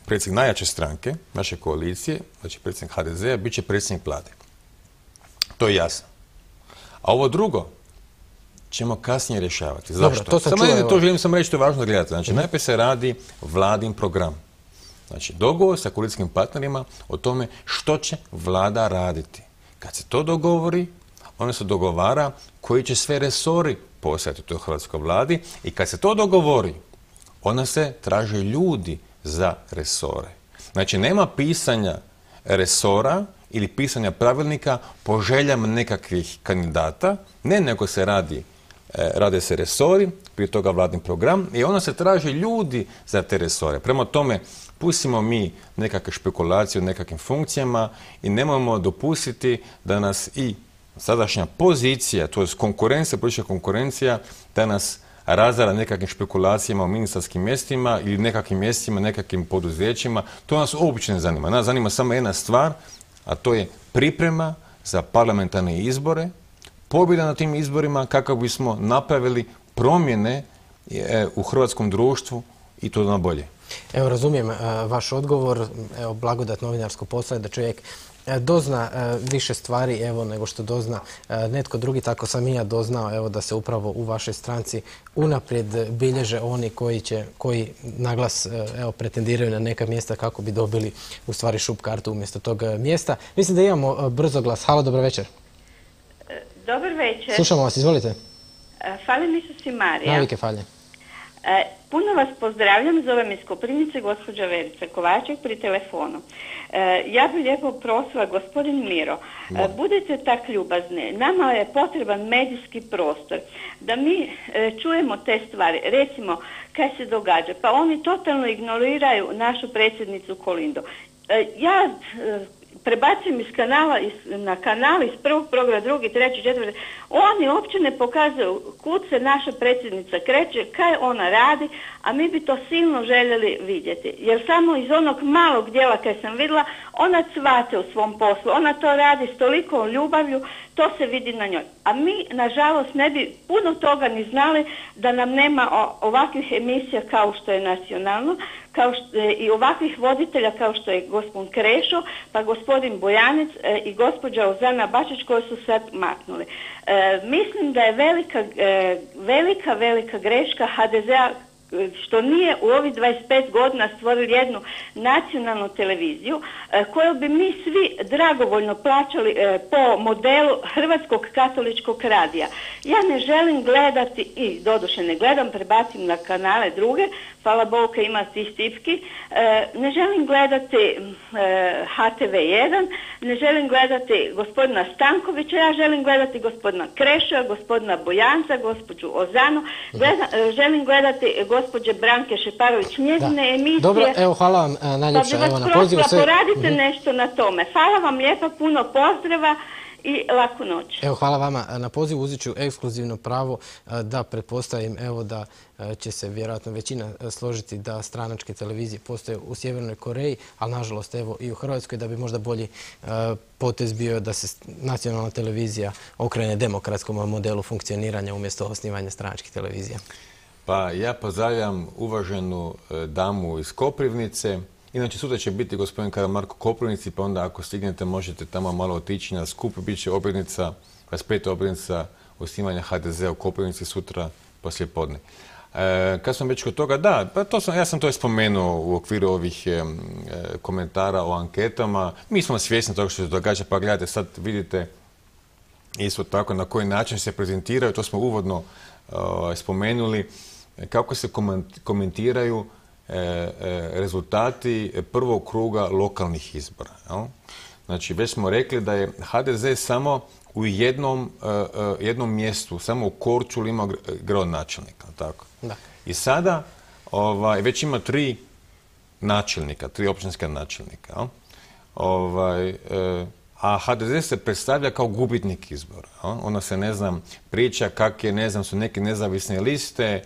predsjednik najjače stranke, naše koalicije, znači predsjednik HDZ-a, bit će predsjednik vlade. To je jasno. A ovo drugo ćemo kasnije rješavati. Zašto? To želim samo reći, to je važno da gledate. Znači, najprije se radi vladin program. Znači, dogovor sa koalicijskim partnerima o tome što će vlada raditi. Kad se to dogovori, onda se dogovara koji će sve resori postojati u toj hrvatskoj vladi i kad se to dogovori, onda se traže ljudi za resore. Znači, nema pisanja resora ili pisanja pravilnika po željama nekakvih kandidata, ne, nego se rade se resori, prije toga vladin program i onda se traže ljudi za te resore. Prema tome, pustimo mi nekakve špekulacije o nekakvim funkcijama i nemojmo dopustiti da nas i sadašnja pozicija, to je konkurencija, politička konkurencija, da nas razara nekakvim špekulacijama o ministarskim mjestima ili nekakvim mjestima, nekakvim poduzećima. To nas uopće ne zanima. Nas zanima samo jedna stvar, a to je priprema za parlamentarne izbore, pobjeda na tim izborima kako bismo napravili promjene u hrvatskom društvu i to na bolje. Evo, razumijem vaš odgovor. Evo, blagodat novinarskog posla je da čovjek dozna više stvari evo nego što dozna netko drugi. Tako sam i ja doznao evo da se upravo u vašoj stranci unaprijed bilježe oni koji naglas evo pretendiraju na neka mjesta kako bi dobili u stvari šup kartu umjesto tog mjesta. Mislim da imamo brzo glas. Halo, dobro večer. Dobar večer. Slušamo vas, izvolite. Fali mi se si Marija. Navike falje. Puno vas pozdravljam, zovem iz Koprivnice, gospođa Verica Kovaček pri telefonu. Ja bih lijepo prosila, gospodin Miro, budete tak ljubazni, nama je potreban medijski prostor, da mi čujemo te stvari, recimo kaj se događa, pa oni totalno ignoriraju našu predsjednicu Kolindu. Ja prebacujem iz kanala na kanal, iz prvog programa, drugi, treći, četvrti. Oni uopće ne pokazuju kud se naša predsjednica kreće, kaj ona radi, a mi bi to silno željeli vidjeti. Jer samo iz onog malog dijela kaj sam vidjela, ona cvate u svom poslu, ona to radi s tolikom ljubavlju, to se vidi na njoj. A mi, nažalost, ne bi puno toga ni znali da nam nema ovakvih emisija kao što je Nacionalno, i ovakvih voditelja kao što je gospodin Krešo, pa gospodin Bojanec i gospođa Ozana Bačić koji su sad maknuli. Mislim da je velika greška HDZ-a što nije u ovih 25 godina stvorili jednu nacionalnu televiziju koju bi mi svi dragovoljno plaćali po modelu Hrvatskog katoličkog radija. Ja ne želim gledati, i doduše ne gledam, prebacim na kanale druge, hvala Bogu ima tih tipki, ne želim gledati HTV1, ne želim gledati gospodina Stankovića, ja želim gledati gospodina Krešova, gospodina Bojanca, gospođu Ozanu, želim gledati gospođe Branke Šeparović, njezine emisije. Dobro, evo, hvala vam najljepša na pozivu. Poradite nešto na tome. Hvala vam lijepa, puno pozdrava i laku noć. Evo, hvala vama na pozivu. Uzet ću ekskluzivno pravo da pretpostavim evo da će se vjerojatno većina složiti da stranačke televizije postoje u Sjevernoj Koreji, ali nažalost evo i u Hrvatskoj, da bi možda bolji potez bio da se nacionalna televizija okrene demokratskom modelu funkcioniranja umjesto osnivanja stranačkih televizija. Pa ja pozdravljam uvaženu damu iz Koprivnice. Inače, sutra će biti gospodin Karamarko u Koprivnici, pa onda ako stignete možete tamo malo otići na skup. Biće obljetnica, 25. obljetnica osnivanja HDZ-a u Koprivnici sutra poslije podne. Kad sam već kod toga, da, pa ja sam to spomenuo u okviru ovih komentara o anketama. Mi smo svjesni toga što se događa, pa gledajte, sad vidite isto tako na koji način se prezentiraju, to smo uvodno spomenuli, kako se komentiraju rezultati prvog kruga lokalnih izbora. Jel? Znači, već smo rekli da je HDZ samo u jednom mjestu, samo u Korčuli imao gradonačelnika. Tako? Da. I sada već ima 3 načelnika, 3 općinska načelnika. Jel? A HDZ se predstavlja kao gubitnik izbora. Onda se, ne znam, priča kak je, ne znam, su neke nezavisne liste,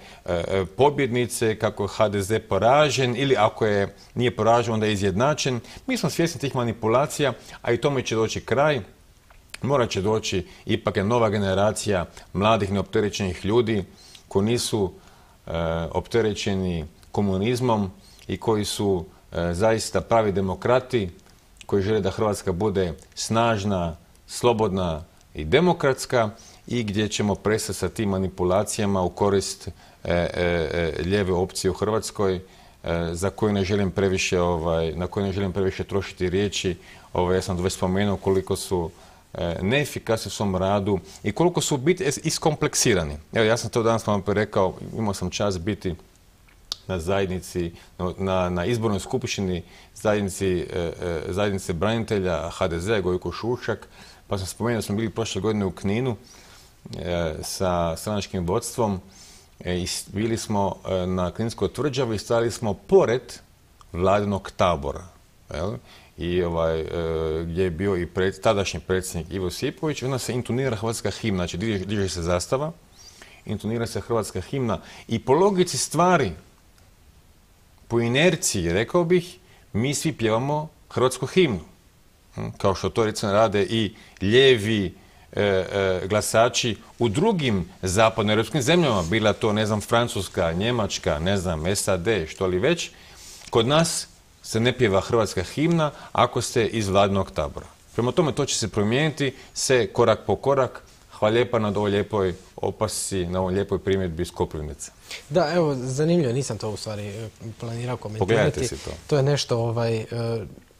pobjednice, kako je HDZ poražen ili ako nije poražen, onda je izjednačen. Mi smo svjesni tih manipulacija, a i tome će doći kraj. Morat će doći ipak nova generacija mladih neopterećenih ljudi koji nisu opterećeni komunizmom i koji su zaista pravi demokrati, koji žele da Hrvatska bude snažna, slobodna i demokratska i gdje ćemo prestati sa tim manipulacijama u korist lijeve opcije u Hrvatskoj za koju ne želim previše, na koju ne želim previše trošiti riječi. Ja sam već spomenuo koliko su neefikasni u svom radu i koliko su biti iskompleksirani. Evo, ja sam to danas vam rekao, imao sam čast biti na zajednici, na izbornoj skupštini zajednice branitelja HDZ-a Gojko Šušak, pa sam spomenuo da smo bili prošle godine u Kninu sa stranačkim vodstvom i bili smo na Kninskoj tvrđavi i stali smo pored vladinog tabora. I gdje je bio i tadašnji predsjednik Ivo Josipović, onda se intonira hrvatska himna, znači diže se zastava, intonira se hrvatska himna i po logici stvari, po inerciji, rekao bih, mi svi pjevamo hrvatsku himnu. Kao što to recimo rade i lijevi glasači u drugim zapadnoeuropskim zemljama, bila to, ne znam, Francuska, Njemačka, ne znam, SAD, što li već. Kod nas se ne pjeva hrvatska himna ako ste iz vladinog tabora. Prema tome, to će se promijeniti se korak po korak. Hvala lijepa na ovoj lijepoj opasci, na ovoj lijepoj primjedbi iz Koprivnice. Da, evo, zanimljivo, nisam to u stvari planirao komentirati. Pogledajte si to. To je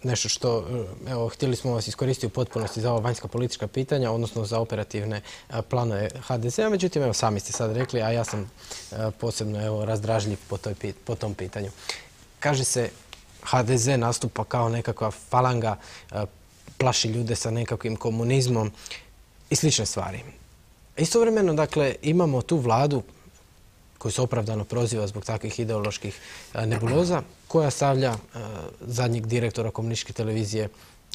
nešto što, evo, htjeli smo vas iskoristiti u potpunosti za ova vanjska politička pitanja, odnosno za operativne planove HDZ-a, međutim, evo, sami ste sad rekli, a ja sam posebno, evo, razdražljiv po tom pitanju. Kaže se, HDZ nastupa kao nekakva falanga, plaši ljude sa nekakvim komunizmom i slične stvari. Istovremeno, dakle, imamo tu vladu koju se opravdano proziva zbog takvih ideoloških nebuloza, koja stavlja zadnjeg direktora komunističke televizije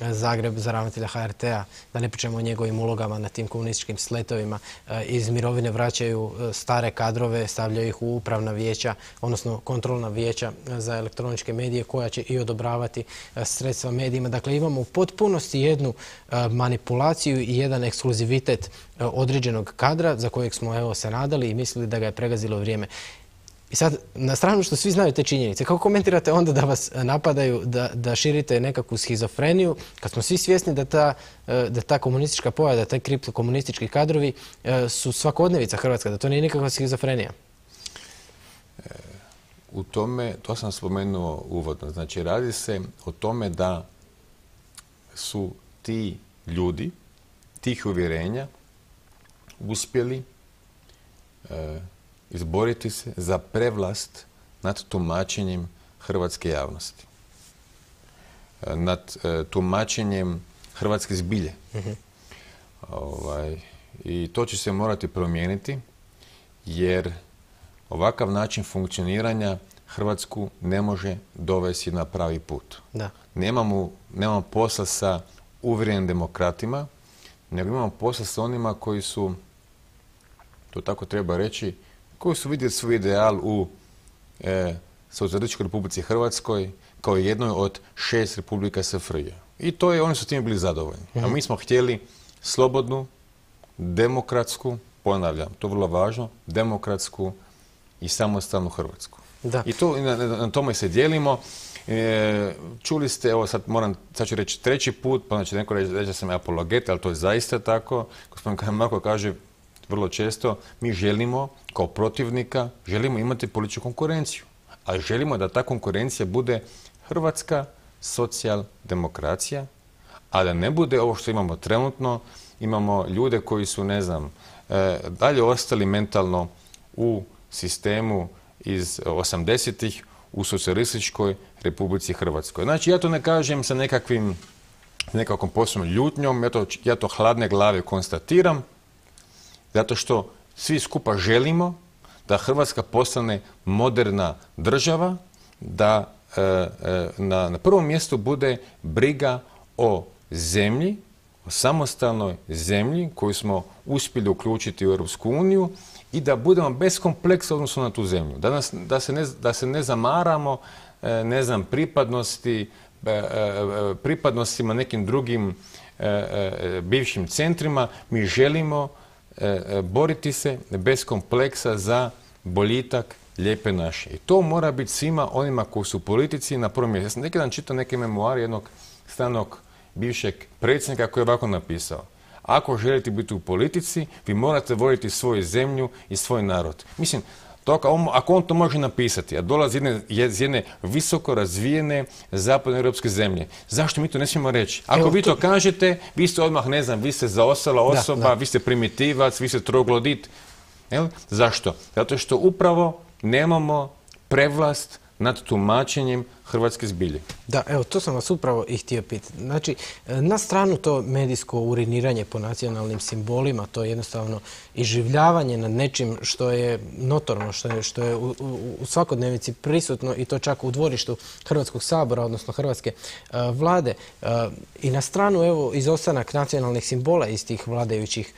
Zagreb za ravnatelja HRT-a, da ne pričamo o njegovim ulogama na tim komunističkim sletovima. Iz mirovine vraćaju stare kadrove, stavljaju ih u upravna vijeća, odnosno kontrolna vijeća za elektroničke medije koja će i odobravati sredstva medijima. Dakle, imamo u potpunosti jednu manipulaciju i jedan ekskluzivitet određenog kadra za kojeg smo, evo, se nadali i mislili da ga je pregazilo vrijeme. I sad, na stranu što svi znaju te činjenice, kako komentirate onda da vas napadaju, da širite nekakvu schizofreniju, kad smo svi svjesni da ta komunistička pojava, da taj kriptokomunistički kadrovi su svakodnevica Hrvatska, da to nije nikakva schizofrenija? U tome, to sam spomenuo uvodno, znači radi se o tome da su ti ljudi, tih uvjerenja, uspjeli izboriti se za prevlast nad tumačenjem hrvatske javnosti, nad tumačenjem hrvatske zbilje. I to će se morati promijeniti, jer ovakav način funkcioniranja Hrvatsku ne može dovesti na pravi put. Nemamo posla sa uvjerenim demokratima, nego imamo posla sa onima koji su, to tako treba reći, koji su vidjeli svoj ideal u Socijalističkoj Republici Hrvatskoj kao jednoj od 6 republika SFRJ. I to je, oni su time bili zadovoljni. A mi smo htjeli slobodnu, demokratsku, ponavljam, to je vrlo važno, demokratsku i samostalnu Hrvatsku. I to, na tome se dijelimo. Čuli ste, evo sad ću reći 3. put, pa znači neko reći da sam apologet, ali to je zaista tako. Gospodin Karamarko kaže vrlo često, mi želimo kao protivnika, želimo imati političku konkurenciju. A želimo da ta konkurencija bude hrvatska socijaldemokracija, a da ne bude ovo što imamo trenutno. Imamo ljude koji su, ne znam, dalje ostali mentalno u sistemu iz 80-ih, u socijalističkoj Republici Hrvatskoj. Znači, ja to ne kažem sa nekakvom posebnom ljutnjom, ja to hladne glave konstatiram, zato što svi skupa želimo da Hrvatska postane moderna država, da na prvom mjestu bude briga o zemlji, o samostalnoj zemlji koju smo uspjeli uključiti u Europsku uniju i da budemo bez kompleksa odnosno na tu zemlju. Da se ne zamaramo, ne znam, pripadnostima nekim drugim bivšim centrima. Mi želimo boriti se bez kompleksa za boljitak Lijepe naše. I to mora biti svima onima koji su u politici na prvom mjestu. Ja sam neki dan čitao neke memoare jednog stranog bivšeg predsjednika koji je ovako napisao: ako želite biti u politici, vi morate voljeti svoju zemlju i svoj narod. Mislim, ako on to može napisati, a dolazi iz jedne visoko razvijene zapadnoeuropske zemlje, zašto mi to ne smijemo reći? Ako vi to kažete, vi ste odmah, ne znam, vi ste zaostala osoba, vi ste primitivac, vi ste troglodit. Zašto? Zato što upravo nemamo prevlast nad tumačenjem hrvatske zbilje. Da, evo, to sam vas upravo i htio pitati. Znači, na stranu to medijsko uriniranje po nacionalnim simbolima, to je jednostavno iživljavanje nad nečim što je notorno, što je u svakodnevici prisutno i to čak u dvorištu Hrvatskog sabora, odnosno Hrvatske vlade. I na stranu, evo, izostanak nacionalnih simbola iz tih vladajućih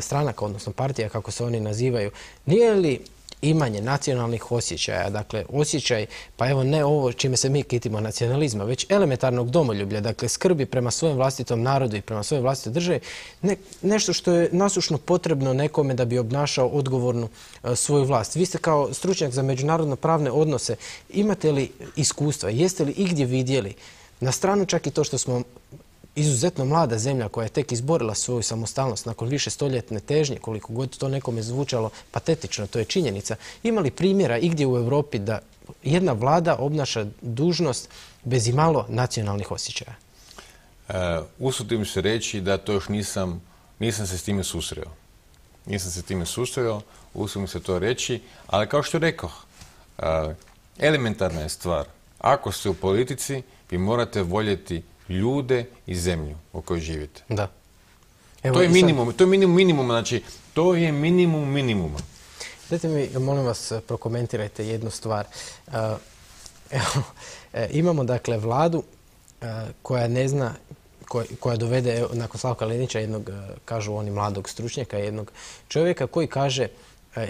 stranaka, odnosno partija, kako se oni nazivaju. Nije li imanje nacionalnih osjećaja, dakle osjećaj, pa evo ne ovo čime se mi kitimo nacionalizma, već elementarnog domoljublja, dakle skrbi prema svojem vlastitom narodu i prema svojoj vlastitoj državi, nešto što je nasušno potrebno nekome da bi obnašao odgovornu svoju vlast. Vi ste kao stručnjak za međunarodno pravne odnose, imate li iskustva, jeste li igdje vidjeli, na stranu čak i to što smo izuzetno mlada zemlja koja je tek izborila svoju samostalnost nakon više stoljetne težnje, koliko god to nekome zvučalo patetično, to je činjenica. Ima li primjera igdje u Europi da jedna vlada obnaša dužnost bez imalo nacionalnih osjećaja? Usudim se reći da to još nisam se s time susreo. Nisam se s time susreo, usudim se to reći, ali kao što rekoh, elementarna je stvar. Ako ste u politici, vi morate voljeti ljude i zemlju u kojoj živite. Da. Evo, to je minimum, to je minimum minimuma, znači to je minimum minimuma. Dajte mi, molim vas, prokomentirajte jednu stvar. Imamo dakle vladu koja ne zna, koja dovede nakon Slavka Linića jednog, kažu oni, mladog stručnjaka, jednog čovjeka koji kaže,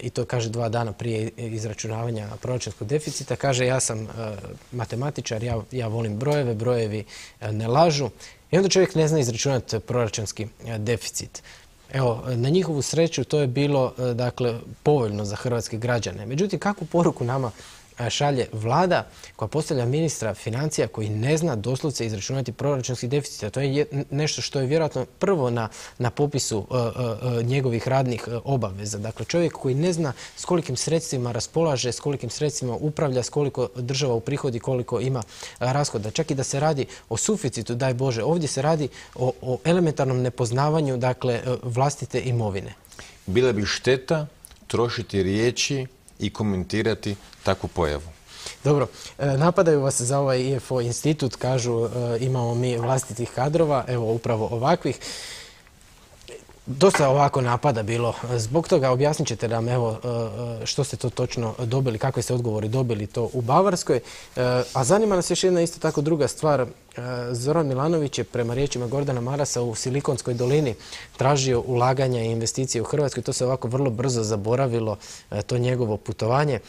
i to kaže 2 dana prije izračunavanja proračunskog deficita, kaže ja sam matematičar, ja volim brojeve, brojevi ne lažu. I onda čovjek ne zna izračunati proračunski deficit. Evo, na njihovu sreću to je bilo, dakle, povoljno za hrvatske građane. Međutim, kakvu poruku nama šalje vlada koja postavlja ministra financija koji ne zna doslovce izračunati proračunski deficit? To je nešto što je vjerojatno prvo na popisu njegovih radnih obaveza. Dakle, čovjek koji ne zna s kolikim sredstvima raspolaže, s kolikim sredstvima upravlja, s koliko država uprihodi, koliko ima rashoda. Čak i da se radi o suficitu, daj Bože, ovdje se radi o elementarnom nepoznavanju, dakle, vlastite imovine. Bila bi šteta trošiti riječi i komentirati takvu pojavu. Dobro, napadaju vas za ovaj IFO institut, kažu imamo mi vlastitih kadrova, evo upravo ovakvih. Dosta ovako napada bilo. Zbog toga objasnit ćete nam evo što ste to točno dobili, kakve ste odgovori dobili to u Bavarskoj. A zanima nas još jedna isto tako druga stvar. Zoran Milanović je prema riječima Gordana Marasa u Silikonskoj dolini tražio ulaganja i investicije u Hrvatskoj. To se ovako vrlo brzo zaboravilo, to njegovo putovanje.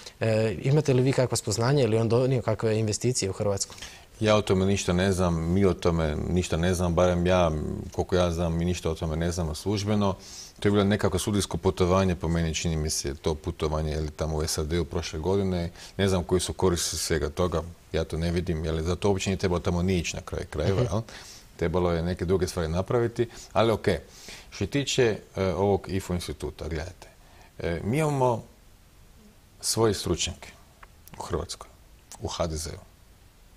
Imate li vi kakva spoznanja ili on donio kakve investicije u Hrvatsku? Ja o tome ništa ne znam, mi o tome ništa ne znam, barem ja, koliko ja znam, mi ništa o tome ne znamo službeno. To je bilo nekako sudijsko putovanje, po meni čini mi se to putovanje ili tamo u SAD-u prošle godine. Ne znam koji su koristi svega toga, ja to ne vidim, jer za to uopće nije trebalo tamo ni ići na kraju krajeva. Trebalo je neke druge stvari napraviti, ali ok. Što se tiče ovog IFO instituta, gledajte, mi imamo svoje stručnjake u Hrvatskoj, u HDZ-u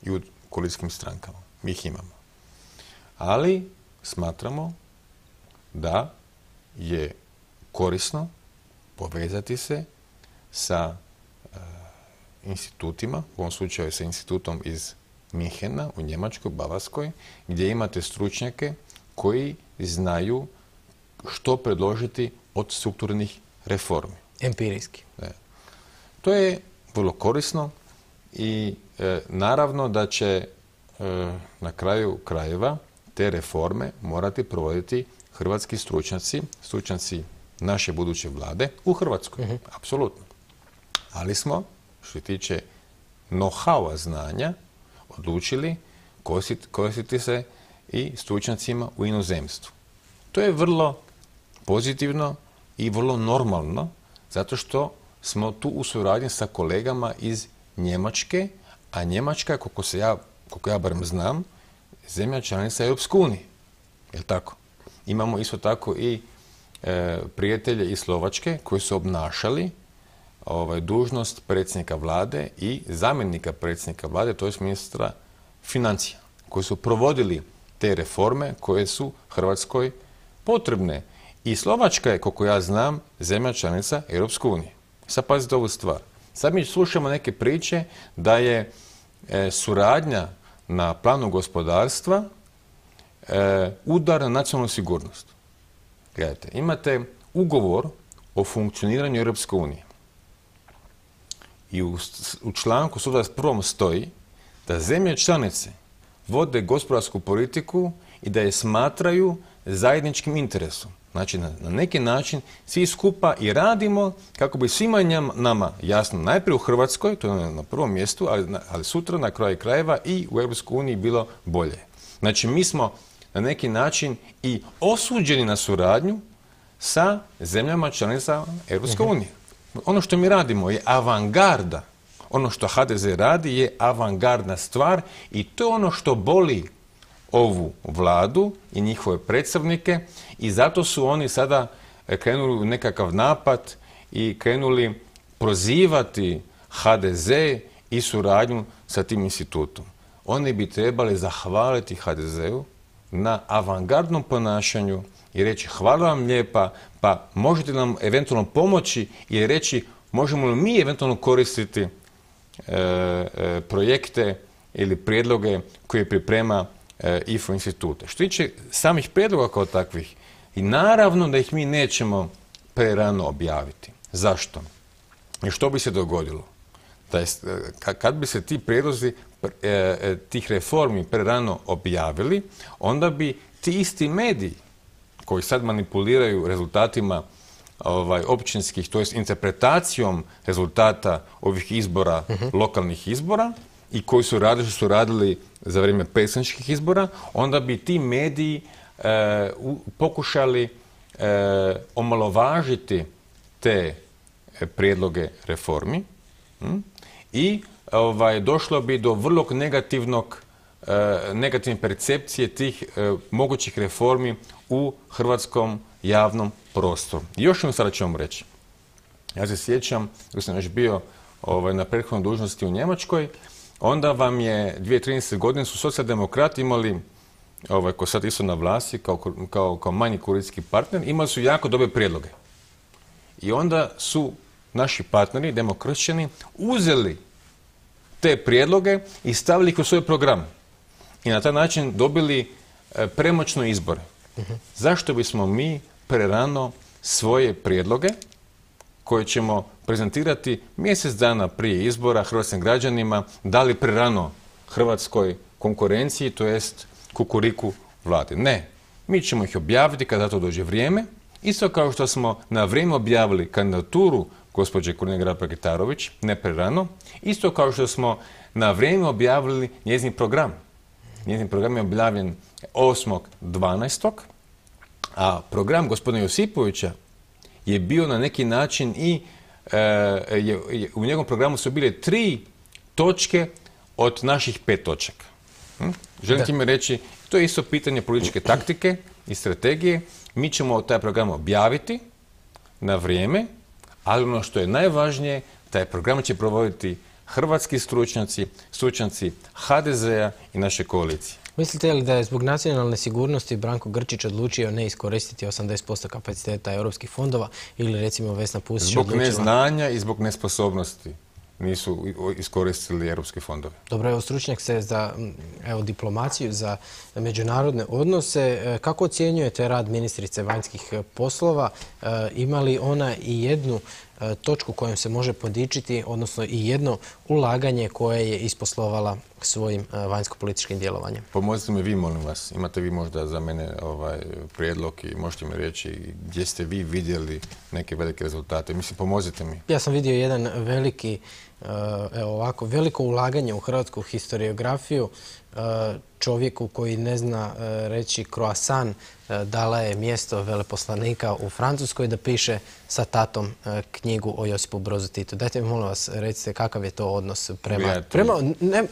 i u koalicijskim strankama. Mi ih imamo. Ali smatramo da je korisno povezati se sa institutima, u ovom slučaju sa institutom iz Minhena u Njemačkoj, Bavarskoj, gdje imate stručnjake koji znaju što predložiti od strukturnih reformi. Empirijski. To je vrlo korisno i naravno da će na kraju krajeva te reforme morati provoditi hrvatski stručnjaci naše buduće vlade u Hrvatskoj. Apsolutno. Ali smo, što se tiče know-howa znanja, odlučili koristiti se i stručnjacima u inozemstvu. To je vrlo pozitivno i vrlo normalno, zato što smo tu u suradnji sa kolegama iz Njemačke, a Njemačka, koliko ja barem znam, zemlja članica Europske unije. Je li tako? Imamo isto tako i prijatelje iz Slovačke koji su obnašali dužnost predsjednika vlade i zamjenika predsjednika vlade, to je ministra financija, koji su provodili te reforme koje su Hrvatskoj potrebne. I Slovačka je, koliko ja znam, zemlja članica Europske unije. Sad pazite ovu stvar. Sad mi slušamo neke priče da je suradnja na planu gospodarstva udar na nacionalnu sigurnost. Gledajte, imate ugovor o funkcioniranju Europske unije. I u članku 121. stoji da zemlje članice vode gospodarsku politiku i da je smatraju zajedničkim interesom. Znači, na neki način svi skupa i radimo kako bi svima nama, jasno, najprije u Hrvatskoj, to je na prvom mjestu, ali sutra na kraju krajeva i u Europskoj uniji bilo bolje. Znači, mi smo na neki način i osuđeni na suradnju sa zemljama članica Europske unije. Ono što mi radimo je avangarda. Ono što HDZ radi je avangardna stvar i to je ono što boli ovu vladu i njihove predstavnike i zato su oni sada krenuli u nekakav napad i krenuli prozivati HDZ i suradnju sa tim institutom. Oni bi trebali zahvaliti HDZ-u na avangardnom ponašanju i reći hvala vam lijepa, pa možete nam eventualno pomoći i reći možemo li mi eventualno koristiti projekte ili prijedloge koje priprema IFO instituta. Što tiče samih prijedloga kao takvih, i naravno da ih mi nećemo prerano objaviti. Zašto? I što bi se dogodilo? Kad bi se ti prijedlozi tih reformi prerano objavili, onda bi ti isti mediji koji sad manipuliraju rezultatima općinskih, to jest interpretacijom rezultata ovih izbora, lokalnih izbora, i koji su radili za vrijeme predsjedničkih izbora, onda bi ti mediji pokušali omalovažiti te prijedloge reformi i došlo bi do vrlo negativne percepcije tih mogućih reformi u hrvatskom javnom prostoru. Još jednom sada ću vam reći. Ja se sjećam, dok sam još bio na prethodnoj dužnosti u Njemačkoj, onda vam je 2013. godine su socijaldemokrati imali, koji sad isto na vlasti, kao manji koalicijski partner, imali su jako dobre prijedloge. I onda su naši partneri, demokršćani, uzeli te prijedloge i stavili ih u svoj program. I na taj način dobili premoćno izbore. Zašto bismo mi prerano svoje prijedloge, koje ćemo prezentirati mjesec dana prije izbora hrvatskim građanima, dali prerano hrvatskoj konkurenciji, to jest kukuriku vlade? Ne. Mi ćemo ih objaviti kada to dođe vrijeme, isto kao što smo na vrijeme objavili kandidaturu gospođe Kolinda Grabar-Kitarović, ne prerano, isto kao što smo na vrijeme objavili njezin program. Njezin program je objavljen 8.12. a program gospodina Josipovića je bio na neki način i u njegovom programu su bile 3 točke od naših 5 točaka. Želim time reći, to je isto pitanje političke taktike i strategije. Mi ćemo taj program objaviti na vrijeme, ali ono što je najvažnije, taj program će provoditi hrvatski stručnjaci HDZ-a i naše koalicije. Mislite li da je zbog nacionalne sigurnosti Branko Grčić odlučio ne iskoristiti 80% kapaciteta europskih fondova ili recimo Vesna Pusić zbog neznanja i zbog nesposobnosti. nisu iskoristili europske fondove. Dobro, evo stručnjak se za diplomaciju, za međunarodne odnose. Kako ocjenjujete rad ministrice vanjskih poslova? Ima li ona i jednu točku kojom se može podičiti, odnosno i jedno ulaganje koje je isposlovala svojim vanjsko-političkim djelovanjem? Pomozite mi vi, molim vas. Imate vi možda za mene prijedlog i možete mi reći gdje ste vi vidjeli neke velike rezultate. Mislim, pomozite mi. Ja sam vidio jedan veliko ulaganje u hrvatsku historiografiju. Čovjeku koji ne zna reći croissant dala je mjesto veleposlanika u Francuskoj da piše sa tatom knjigu o Josipu Brozu Titu. Dajte mi, molim vas, recite kakav je to odnos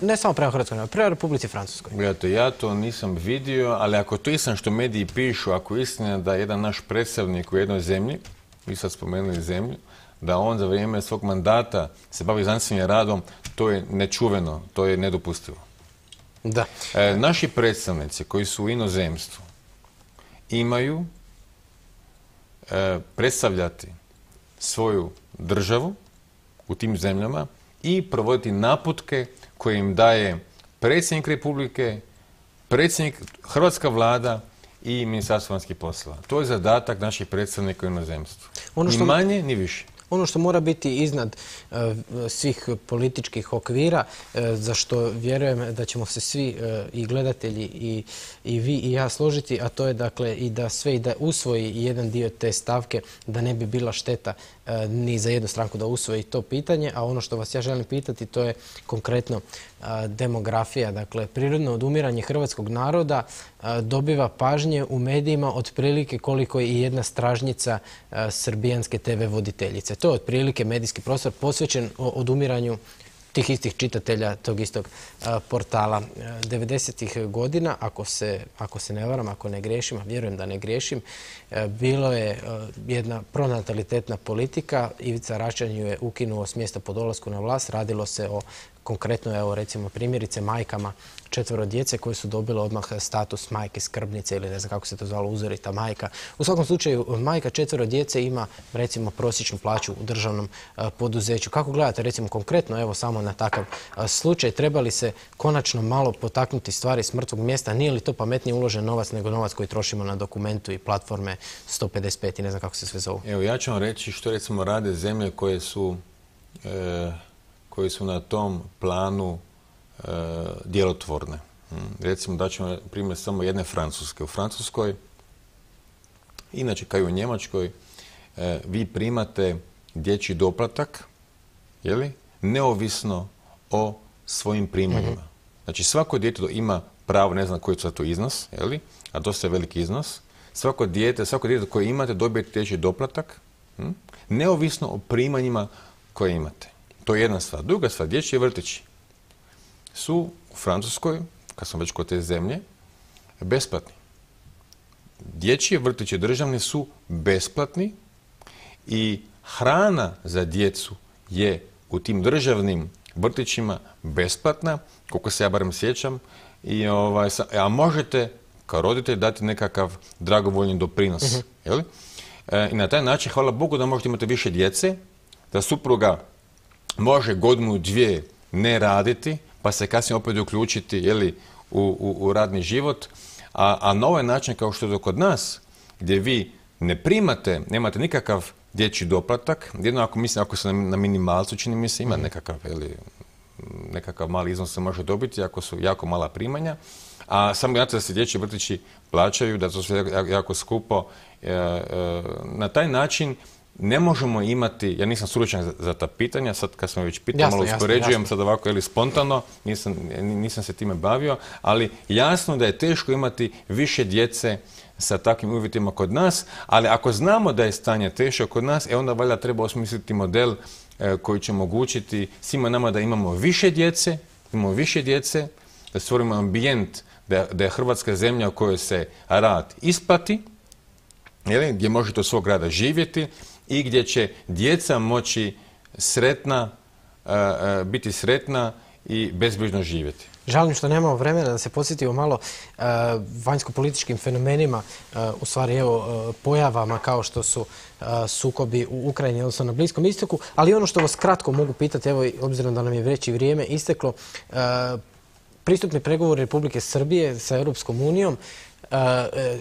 ne samo prema Hrvatskoj, nego prema Republici Francuskoj. Gledajte, ja to nisam vidio, ali ako to istina što mediji pišu, ako je istina da jedan naš predstavnik u jednoj zemlji, vi sad spomenuli zemlju, da on za vrijeme svog mandata se bavi znanstvenim radom, to je nečuveno, to je nedopustivo. Da. Naši predstavnici koji su u inozemstvu imaju predstavljati svoju državu u tim zemljama i provoditi naputke koje im daje predsjednik Republike, Hrvatska vlada i Ministarstvo vanjskih poslova. To je zadatak naših predstavnika u inozemstvu. Ni manje, ni više. Ono što mora biti iznad svih političkih okvira, za što vjerujem da ćemo se svi i gledatelji i vi i ja složiti, a to je dakle i da sve i da usvoji jedan dio te stavke, da ne bi bila šteta ni za jednu stranku da usvoji to pitanje. A ono što vas ja želim pitati, to je konkretno demografija. Dakle, prirodno odumiranje hrvatskog naroda dobiva pažnje u medijima otprilike koliko je i jedna stražnjica srbijanske TV voditeljice. To je otprilike medijski prostor posvećen odumiranju tih istih čitatelja tog istog portala. 90. godina, ako se ne varam, ako ne griješim, a vjerujem da ne griješim, bilo je jedna pronatalitetna politika. Ivica Račan ju je ukinuo s mjesta po dolasku na vlast. Radilo se o konkretno, evo recimo primjerice, majkama 4 djece koje su dobile odmah status majke skrbnice ili ne znam kako se to zvalo, uzorita majka. U svakom slučaju, majka 4 djece ima recimo prosječnu plaću u državnom poduzeću. Kako gledate recimo konkretno, evo samo na takav slučaj, treba li se konačno malo potaknuti stvari s mrtvog mjesta? Nije li to pametnije uložen novac nego novac koji trošimo na Dokumentu i platforme 155 i ne znam kako se sve zovu? Evo, ja ću vam reći što recimo rade zemlje koje su na tom planu djelotvorne. Recimo, daćemo primjer samo jedne Francuske. U Francuskoj, inače kao i u Njemačkoj, vi primate dječji doplatak, neovisno o svojim primanjima. Znači, svako dijete ima pravo, ne znam koji je to iznos, a dosta je veliki iznos. Svako dijete koje imate dobijete dječji doplatak, neovisno o primanjima koje imate. To je jedna stvar. Druga stvar, dječji vrtići su u Francuskoj, kad smo već kod te zemlje, besplatni. Dječji vrtići državni su besplatni i hrana za djecu je u tim državnim vrtićima besplatna, koliko se ja barem sjećam, a možete kao roditelj dati nekakav dragovoljni doprinos. I na taj način, hvala Bogu da možete imati više djece, da supruga može godinu, dvije ne raditi, pa se kasnije opet uključiti u radni život. A na ovaj način, kao što je kod nas, gdje vi nemate nikakav dječji doplatak, jedno ako se na minimalcu, čini mi se, ima nekakav mali iznos se može dobiti, ako su jako mala primanja, a samo znate da se dječji vrtići plaćaju, da to sve jako skupo. Na taj način ne možemo imati, ja nisam stručnjak za ta pitanja, sad kad smo već pitali, malo uspoređujem, sad ovako spontano, nisam se time bavio, ali jasno da je teško imati više djece sa takvim uvjetima kod nas, ali ako znamo da je stanje teško kod nas, onda valjda treba osmisliti model koji će omogućiti svima nama da imamo više djece, da stvorimo ambijent, da je Hrvatska zemlja u kojoj se rad isplati, gdje možete od svog rada živjeti, i gdje će djeca moći biti sretna i bezbrižno živjeti. Žalim što nemamo vremena da se podsjetimo malo vanjsko-političkim fenomenima, u stvari pojavama kao što su sukobi u Ukrajini, odnosno na Bliskom istoku, ali ono što vas kratko mogu pitati, evo obzirom da nam je već i vrijeme isteklo, pristupni pregovori Republike Srbije sa Europskom unijom,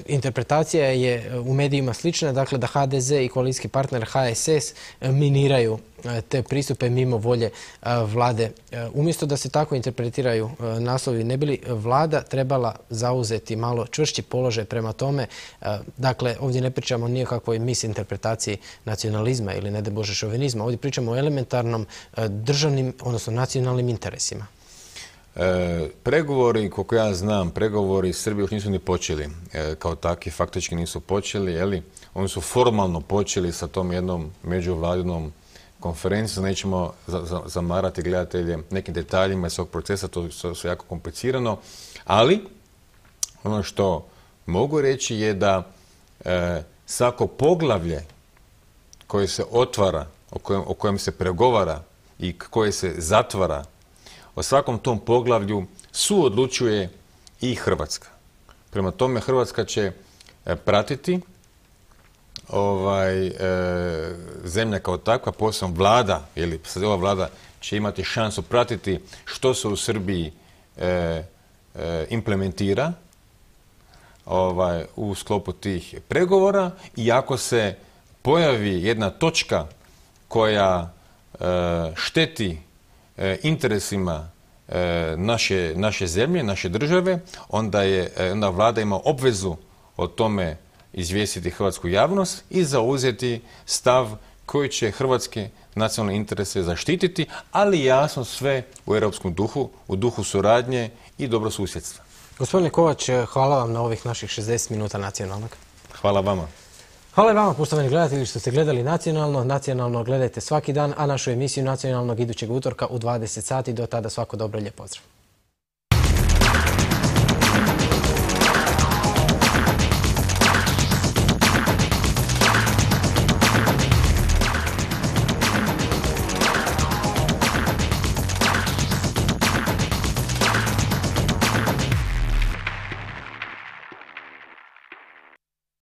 interpretacija je u medijima slična, dakle da HDZ i koalicijski partner HSS miniraju te pristupe mimo volje vlade. Umjesto da se tako interpretiraju naslovi, ne bi li vlada trebala zauzeti malo čvršći položaj prema tome? Dakle, ovdje ne pričamo ni o kakvoj misinterpretaciji nacionalizma ili ne daj Bože šovinizma, ovdje pričamo o elementarnom državnim, odnosno nacionalnim interesima. Pregovori, koliko ja znam, pregovori Srbije još nisu ni počeli. Kao takvi faktički nisu počeli, oni su formalno počeli sa tom jednom međuvladinom konferencijom. Nećemo zamarati gledatelje nekim detaljima iz ovog procesa, to su jako komplicirano. Ali, ono što mogu reći je da svako poglavlje koje se otvara, o kojem se pregovara i koje se zatvara, o svakom tom poglavlju suodlučuje i Hrvatska. Prema tome Hrvatska će pratiti zemlja kao takva, posebno vlada, ili ova vlada će imati šansu pratiti što se u Srbiji implementira u sklopu tih pregovora i ako se pojavi jedna točka koja šteti interesima naše zemlje, naše države, onda vlada ima obvezu o tome izvijestiti hrvatsku javnost i zauzeti stav koji će hrvatske nacionalne interese zaštititi, ali jasno sve u europskom duhu, u duhu suradnje i dobrosusjedstva. Gospodine Kovač, hvala vam na ovih naših 60 minuta Nacionalnog. Hvala vama. Hvala i vama, poštovani gledatelji, što ste gledali Nacionalno. Nacionalno gledajte svaki dan, a našu emisiju Nacionalnog idućeg utorka u 20 sati. Do tada svako dobro i lijep pozdrav.